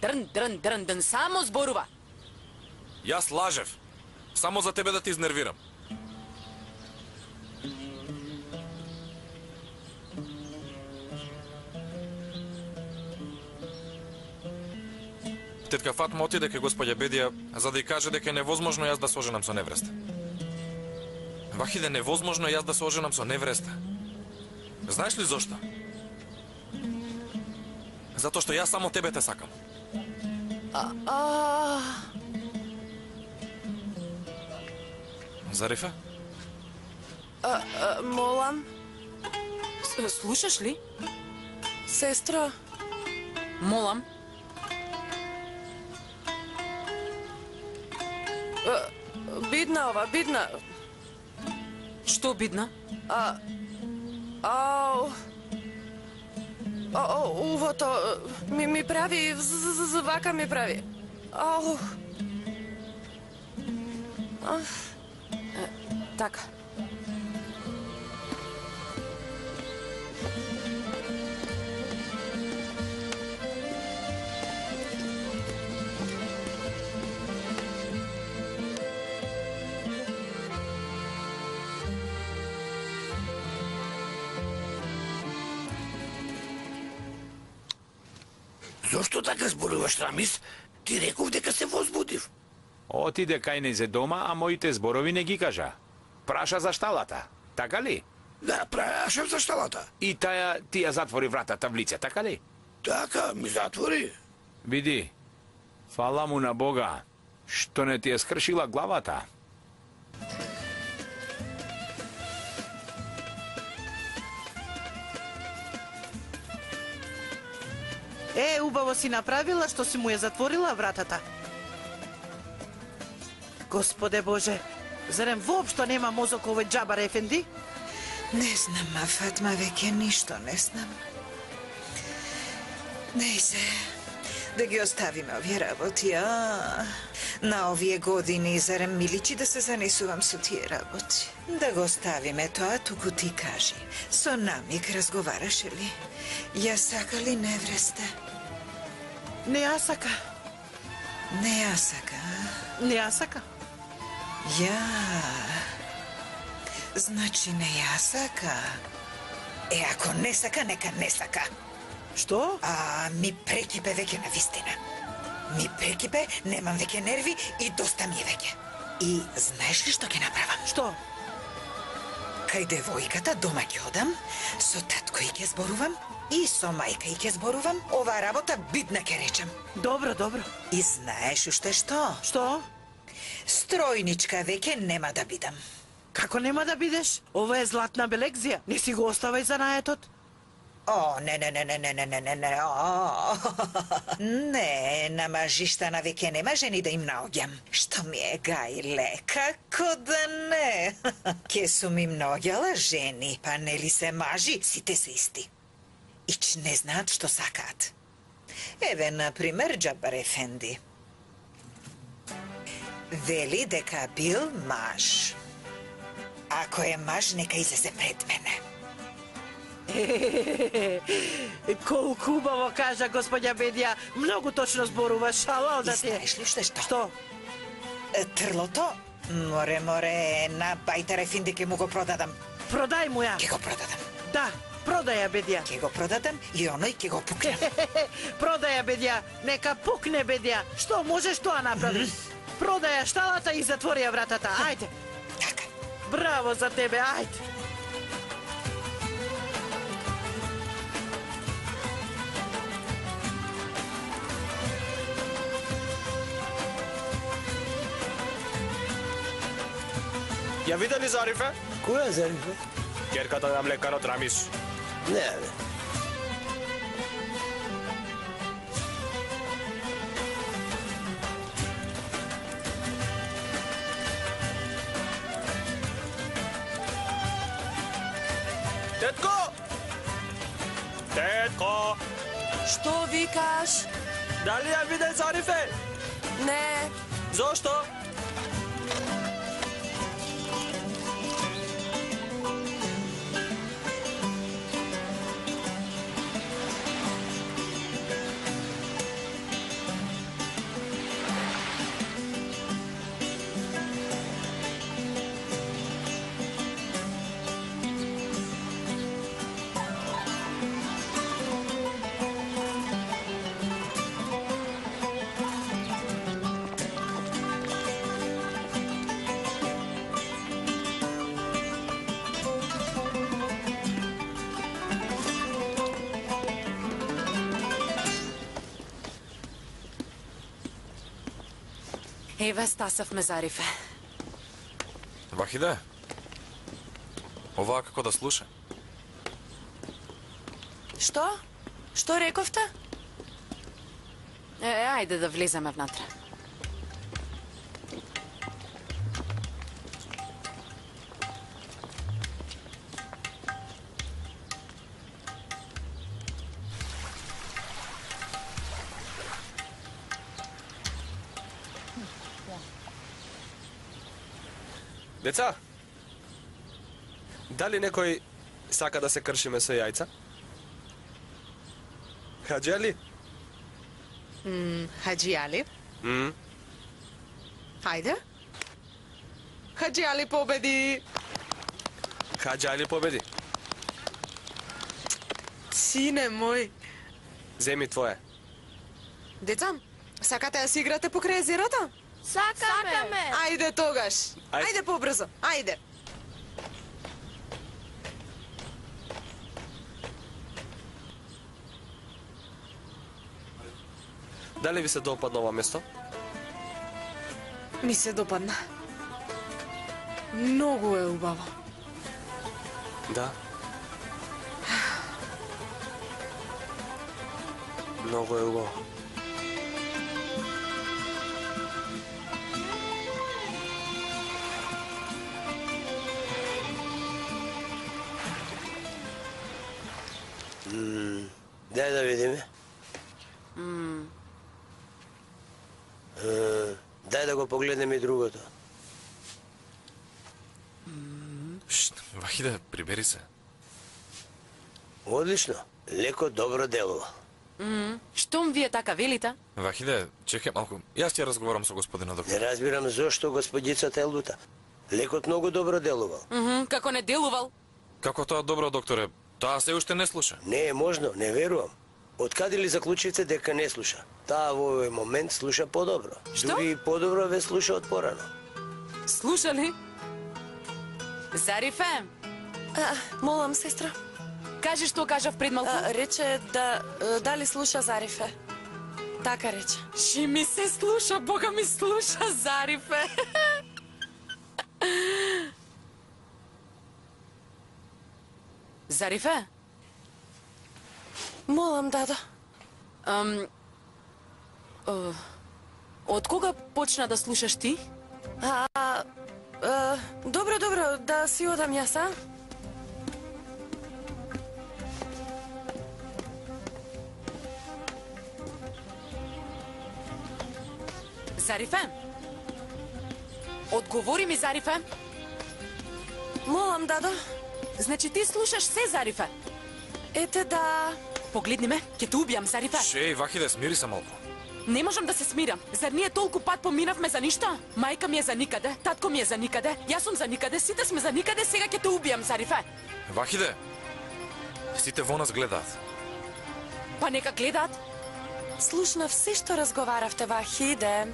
Дрн, дрн, дрн, дрн, само зборува. Јас лажев. Само за тебе да ти изнервирам. Тетка Фатма отиде кај господја Бедија за да ја каже дека е невозможно јас да се оженам со невреста. Вахиде, невозможно јас да се оженам со невреста. Знаеш ли зошто? Затоа што јас само тебе те сакам. Зарифа? Молам. Слушаш ли? Сестра, Молам. бидна ова, бидна. Што бидна? Увото ми прави, вака ми прави. Ау. Така. Зошто така зборуваш, Рамис? Ти реков дека се возбудив. Отиде кај незе дома, а моите зборови не ги кажа. праша за шталата, така ли? Да, прашав за шталата. И таја ти ја затвори вратата в лице, така ли? Така, ми затвори. Види, фала му на Бога, што не ти е скршила главата. Убаво си направила што си му ја затворила вратата. Господе Боже, зарем воопшто нема мозок овој џабар ефенди? Не знам, Фатма, веќе ништо не знам. Нејзе, да ги оставиме овие работи, На овие години зарем ми личи да се занесувам со тие работи. Да го оставиме тоа, туку ти кажи. Со намик разговараше ли? Ја сака ли невреста? Не ја сака. Не ја сака, Не ја сака. Ја... Значи не ја сака. Ако не сака, нека не сака. Што? Ми прекипе веќе на вистина. Ми прекипе, немам веќе нерви и доста ми е веќе. И знаеш ли што ќе направам? Што? Кај девојката дома ќе одам, со татко и ќе зборувам, и со мајка и ќе зборувам, оваа работа бидна ќе речам. Добро, добро. И знаеш уште што? Што? Стројничка веќе нема да бидам. Како нема да бидеш? Ова е златна белекзија. Не си го оставај за наетот. Не. Не, на мажиштана веќе нема жени да им наоѓам. Што ми е гајле, како да не? Ке сум им наоѓала жени, па нели се мажи, сите се исти. Ич не знаат што сакаат. Еве, например, Џабар ефенди. Вели дека бил маж. Ако е маж, нека излезе пред мене. Колку убаво кажа господја Бедија, многу точно зборува, шалал да ти е. Знаеш ли што? Што? Трлото? Море, на Бајтар ефенди ке му го продадам. Продај му ја. Ке го продадам. Да, продај ја Бедија. Ке го продадам и оној ке го пукнем. Продај ја Бедија, нека пукне Бедија. Што можеш тоа направиш? Продај ја шталата и затвори ја вратата, ајде. Така. Браво за тебе, ајде. Ја виде ли Зарифе? Која Зарифе? Ќерката на млекарот Рамис. Не. Тетко! Тетко! Што викаш? Дали ја виде Зарифе? Не. Зошто? Еве стасавме Зарифе. Вахиде, оваа како да слуша? Што? Што рековте? Ајде да влеземе внатре. Деца, дали некој сака да се кршиме со јајца? Хаџи Али? Хаџи Али? Хајде. Хаџи Али победи. Хаџи Али победи. Сине мој. Земи твое. Деца, сакате да си играте покрај езерото? Сакаме. Ајде тогаш. Ајде побрзо. Ајде. Дали ви се допадна ова место? Ми се допадна. Многу е убаво. Да. Многу е убаво. Дај да видиме. Дај да го погледнеме и другото. Вахиде, прибери се. Одлично. Леко добро делува. Штом вие така велите? Вахиде, чекај малку. Јас ќе разговарам со господина доктор. Не разбирам зошто господицата е лута. Лекот многу добро делувал. Како не делувал? Како тоа добро, докторе? Таа се уште не слуша. Не е можно, не верувам. Откаде ли заклучивте дека не слуша? Таа во овој момент слуша подобро. Што? Дури и подобро ве слуша од порано. Слуша ли? Зарифе? Молам, сестра. Кажи што кажав пред малку? Рече дали слуша Зарифе. Така рече. Ши ми се слуша, Бога ми слуша, Зарифе. Зарифе? Молам, дадо. Од кога почна да слушаш ти? Добро, да си одам јас, а? Зарифе? Одговори ми, Зарифе. Молам, дадо. Значи ти слушаш се, Зарифе? Ете да... Погледни ме, ќе те убијам, Зарифе. Шеј, Вахиде, смири се малку. Не можам да се смирам. Зар ние толку пат поминавме за ништо? Мајка ми е за никаде, татко ми е за никаде, јас сум за никаде, сите сме за никаде, сега ќе те убијам, Зарифе. Вахиде, сите во нас гледаат. Па нека гледаат. Слушнав се што разговаравте, Вахиде.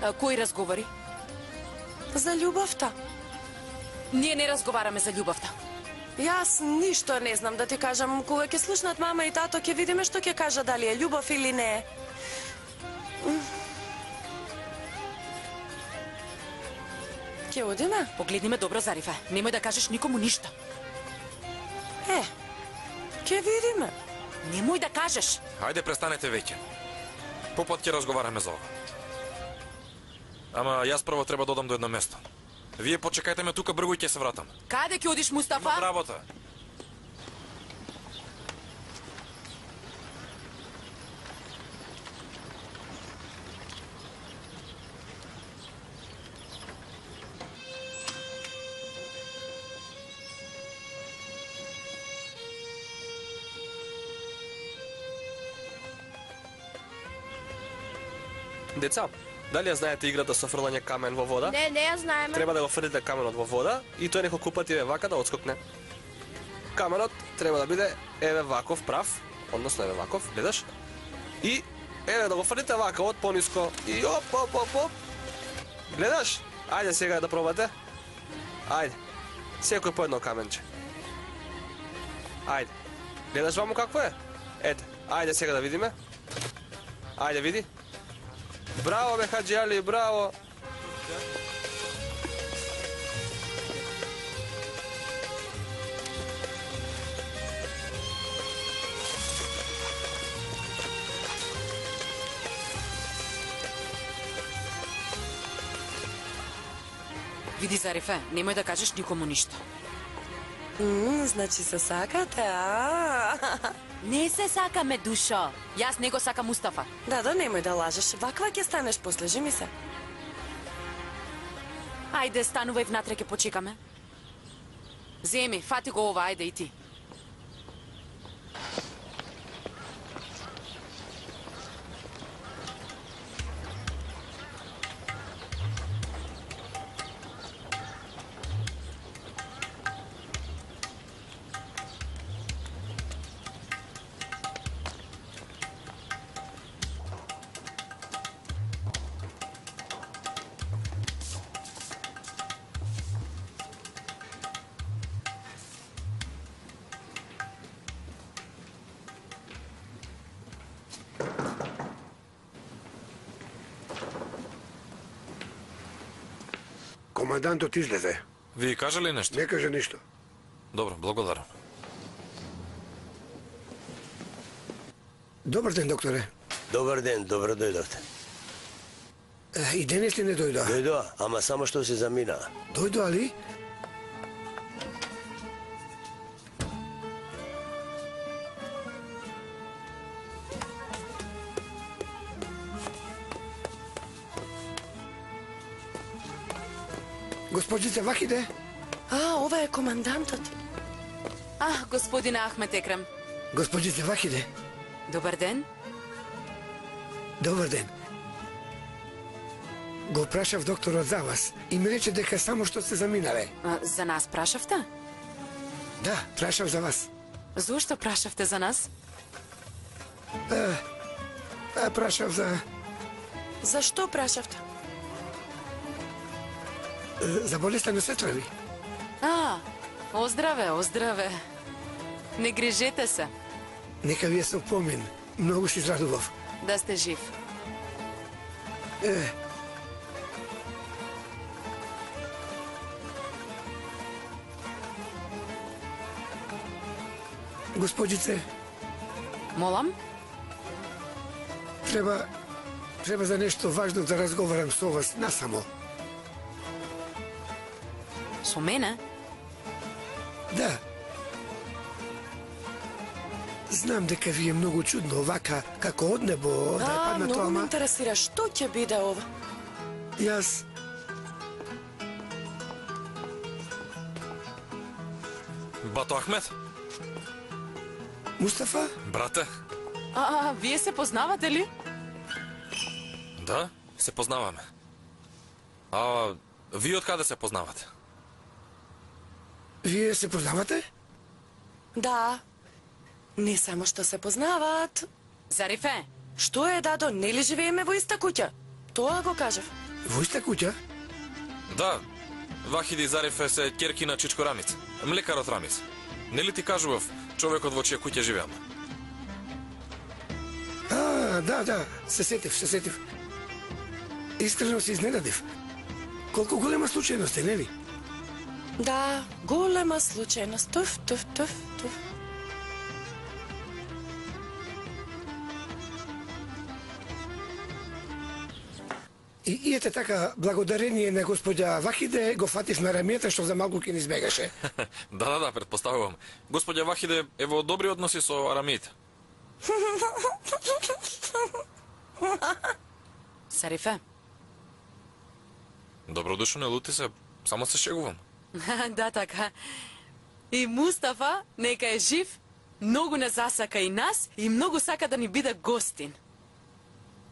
Кој разговори? За љубовта. Ние не разговараме за љубовта. Јас ништо не знам да ти кажам. Кога ќе слушнат мама и тато, ќе видиме што ќе кажа, дали е љубов или не. Ќе одиме? Погледни ме добро, Зарифе. Немој да кажеш никому ништо. Ќе видиме. Немој да кажеш. Хајде, престанете веќе. Попат ќе разговараме за ова. Ама јас прво треба да одам до едно место. Вие почекајте ме тука, бргу и ќе се вратам. Каде ќе одиш, Мустафа? Имам работа. Деца, дали ја знаете играта со фрлање камен во вода? Не ја знаеме. Треба да го фрлите каменот во вода и тој неколку пати еве вака да отскокне. Каменот треба да биде еве ваков прав, односно еве ваков, гледаш? И еве да го фрлите вака од пониско и оп. Гледаш? Ајде сега да пробате. Ајде. Секој по едно каменче. Ајде. Гледаш ваму какво е? Ете, ајде сега да видиме. Ајде види. Браво, бе, Хаджи Али, браво! Види, Зарифе, немој да кажеш никому ништо. Значи се сакате, а? Не се сакаме, душо. Јас не го сакам Мустафа. Да, немој да лажеш. Ваква ќе станеш после, жи се. Ајде, станувај внатре, ќе почекаме. Земи, фати го ова, ајде и ти. командантот излезе. Ви кажа ли нешто? Не каже ништо. Добро, благодарам. Добар ден, докторе. Добар ден, добро дојдовте. И денес ли не дојдоа? Дојдоа, ама само што се заминаа. Дојдоа ли? Госпожице Вахиде? Ова е командантот. Господин Ахмет Екрам. Госпожице Вахиде? Добар ден. Добар ден. Го прашав докторот за вас и ми рече дека само што сте заминале. За нас прашавте? Да, прашав за вас. Зошто прашавте за нас? Прашав за... Зашто прашавте? За болеста на сестра ви. Оздраве, оздраве. Не грижете се. Нека ви е со помин. Многу се израдував. Да сте жив. Госпожице. Молам? Треба за нешто важно да разговарам со вас насамо. Со мене? Да. Знам дека ви е многу чудно овака, како од небо, да е падна тоа, многу ме интересира, што ќе биде ова? Јас... Бато Ахмет? Мустафа? Брате? Вие се познавате ли? Да, се познаваме. Вие од каде се познавате? Вие се познавате? Да. Не само што се познаваат. Зарифе? Што е, дадо, нели живееме во иста куќа? Тоа го кажав. Во иста куќа? Да. Вахиди и Зарифе се ќерки на Чичко Рамиц, млекарот Рамиц. Нели ти кажував човекот во чија куќа живеам? Да, се сетив. Искрено се изненадив. Колку голема случајност е, нели? Да, голема случајност. Туф. И ете така, благодарение на господја Вахиде, го фатив на рамијата што за малку ќе ни избегаше. Да, предпоставувам. Господја Вахиде е во добри односи со арамиите. Зарифе? Добродушно, не лути се, само се шегувам. Да, така. И Мустафа, нека е жив, многу не засака и нас и многу сака да ни биде гостин.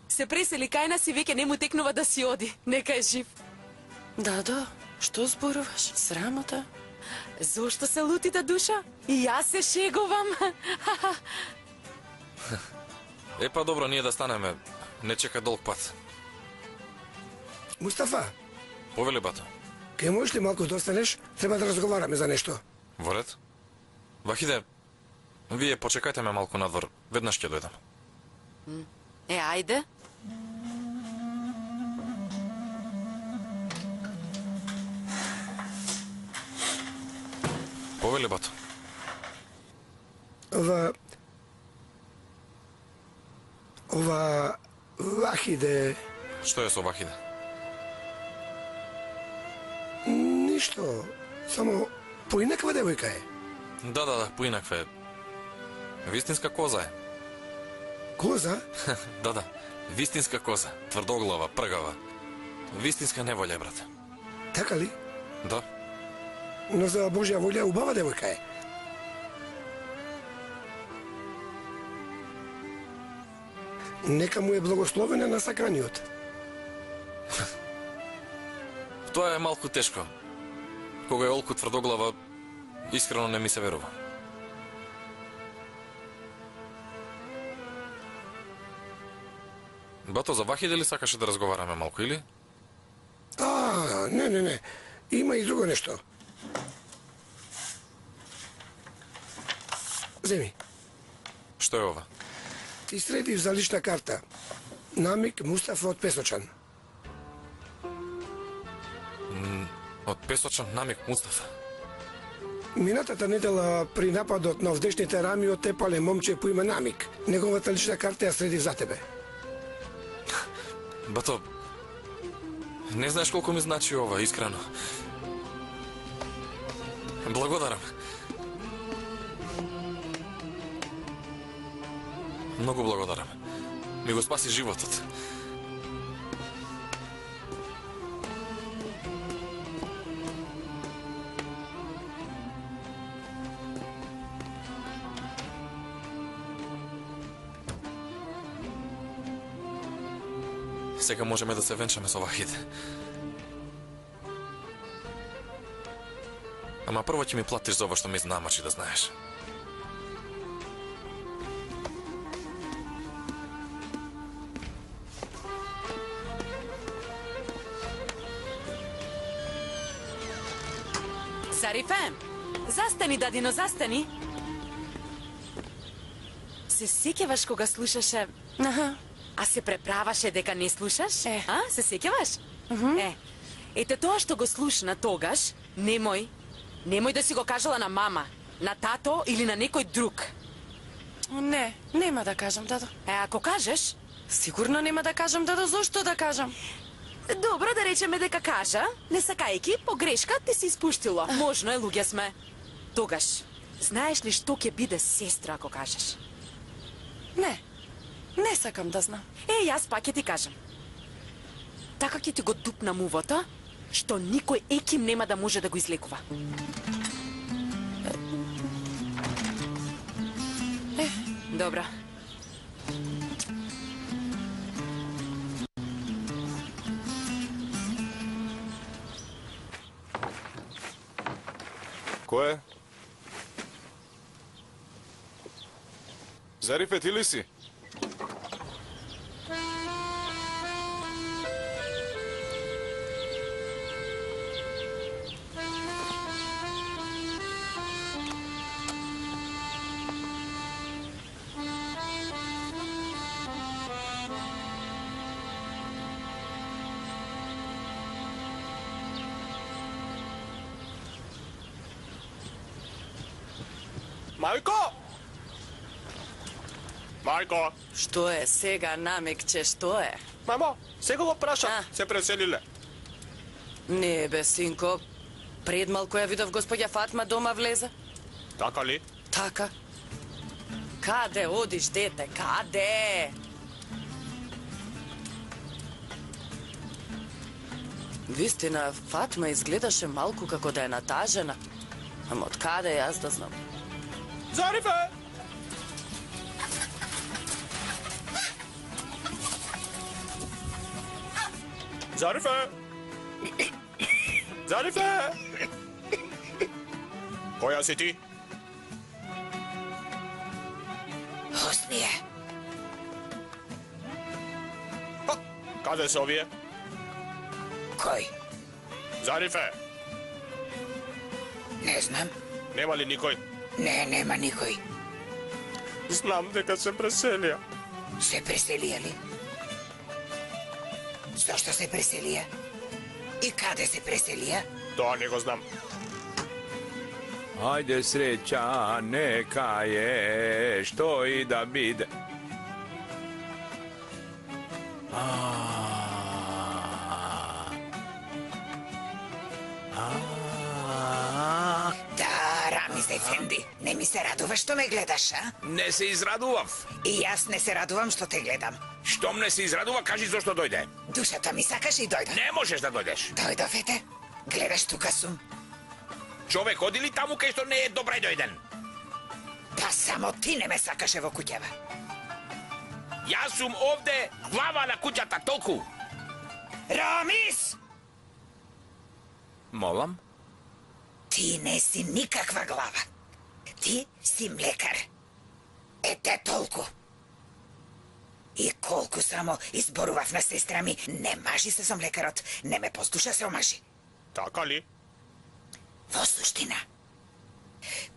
Се пресели кај нас и веќе не му текнува да си оди. Нека е жив. Да, што зборуваш? Срамота? Зошто се лутите, душа? И јас се шегувам. Епа добро, ние да станеме. Не чека долг пат. Мустафа. Повели, бато. Ке можеш ли малку да останеш? Треба да разговараме за нешто. Во ред? Вахиде, вие почекајте ме малку надвор. Веднаш ќе дојдам. Ајде. Повели, бато. Ова Вахиде... Што е со Вахиде? Ништо. Само поинаква девојка е. Да, поинаква е. Вистинска коза е. Коза? Да. Вистинска коза. Тврдоглава, пргава. Вистинска неволја, брате. Така ли? Да. Но за Божја волја убава девојка е. Нека му е благословена на саканиот. Тоа е малку тешко. Кога е олку тврдоглава, искрено не ми се верува. Бато, за Вахиде ли сакаше да разговараме малку, или? Не. Има и друго нешто. Земи. Што е ова? Ти средив за лична карта. Намик Мустафа од Песочан. Од песочен Намик Мустафа. Минатата недела при нападот на овдешните рами оттепале момче по име Намик. Неговата лична карта ја следи за тебе. Бато, не знаеш колку ми значи ова, искрено. Благодарам. Многу благодарам. Ми го спаси животот. Сега можеме да се венчаме со Вахид. Ама прво ќе ми платиш за ова што ми знамачи, да знаеш. Зарифе, застани, дадино, застани. Се сеќаваш кога слушаше... А се преправаше дека не слушаш? А? Се сеќаваш? Ете тоа што го слушна тогаш, немој да си го кажала на мама, на тато или на некој друг. Не, нема да кажам, дадо. Ако кажеш? Сигурно нема да кажам, дадо, зошто да кажам? Добро, да речеме дека кажа, не сакајки, погрешка ти се испуштило. Можно е, луѓе сме. Тогаш, знаеш ли што ќе биде сестра ако кажеш? Не сакам да знам. Јас пак ќе ти кажам. Така ќе ти го дупнам увото, што никој еким нема да може да го излекува. Добро. Кој е? Зарифе, ти ли си? Мајко! Мајко! Што е сега, Намикче, што е? Мамо, сега го прашам, се преселиле. Не, бе, синко. Пред малку ја видов господја Фатма дома влезе. Така ли? Така. Каде одиш, дете, каде? Вистина, Фатма изгледаше малку како да е натажена. Ама од каде јас да знам? Зарифе! Зарифе! Зарифе! Која си ти? Хосни е. Каде се овие? Кој? Зарифе! Не знам. Нема ли никој? Не, нема никој. Знам дека се преселија. Се преселија ли? Зошто се преселија? И каде се преселија? Тоа не го знам. Ајде среќа, нека е, што и да биде. Да, Рамиз Ефенди, не ми се радуваш што ме гледаш, а? Не се израдував. И јас не се радувам што те гледам. Штом не се израдува, кажи зошто дојде. Душата ми сакаш и дојдов. Не можеш да дојдеш. Дојдов, ете. Гледаш, тука сум. Човек, оди ли таму кај што не е добре дојден? Па само ти не ме сакаше во куќава. Јас сум овде глава на куќата, толку. Рамис! Молам? Ти не си никаква глава. Ти си млекар. Ете толку. И колку само изборував на сестра ми, не мажи се со млекарот, не ме послуша, се омажи. Така ли? Во суштина,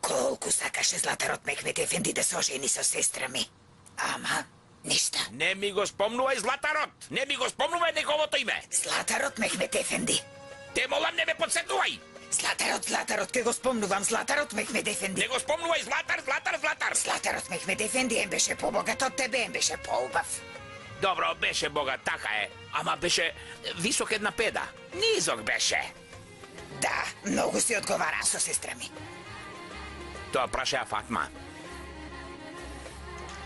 колку сакаше Златарот Мехмет Ефенди да се ожени со сестра ми. Ама, ништа. Не ми го спомнувај Златарот! Не ми го спомнувај неговото име! Златарот Мехмет Ефенди. Те молам, не ме подсетувај! Златарот, ке го спомнувам, Златарот Мехмед Ефенди. Не го спомнувај, Златар! Златарот Мехмед Ефенди ем беше побогат од тебе, ем беше поубав. Добро, беше богат, така е. Ама беше висок една педа. Низок беше. Да, многу си одговара со сестра ми. Тоа праша Фатма.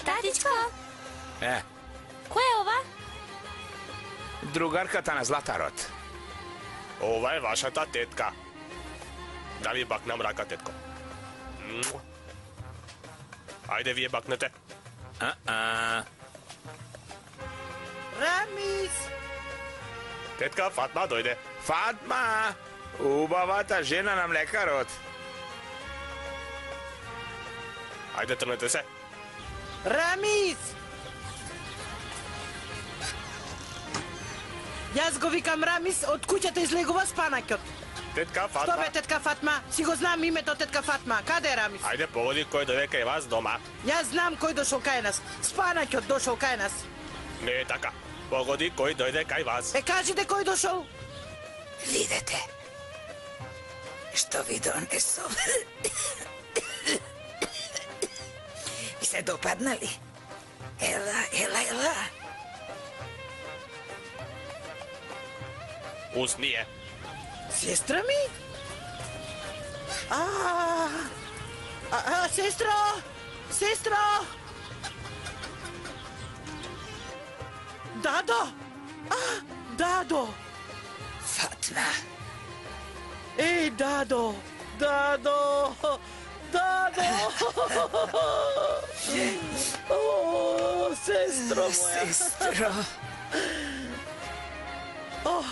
Татичко, Е, кој е ова? другарката на Златарот. Ова е вашата тетка. Да ви бакнам рака, тетко. Ајде, вие бакнете. Рамис! Тетка, Фатма, дојде. Фатма! Убавата жена на млекарот. Ајде, трнете се. Рамис! Јас го викам Рамис, од куќата излегува спанаќот. Тетка, Што Фатма. бе, тетка Фатма? Си го знам името тетка Фатма. Каде е Рамис? Ајде, погоди кој дојде кај вас дома. Јас знам кој дошол кај нас. Спанаќот дошол кај нас. Не е така. Погоди кој дојде кај вас. Е, кажете кој дошол? Видете, што ви донесов. И се допаднали? Ела. Усние. Сестра ми? Сестро! Дадо! Дадо! Фатма. Еј, Дадо! О, сестро моја! Сестро. О,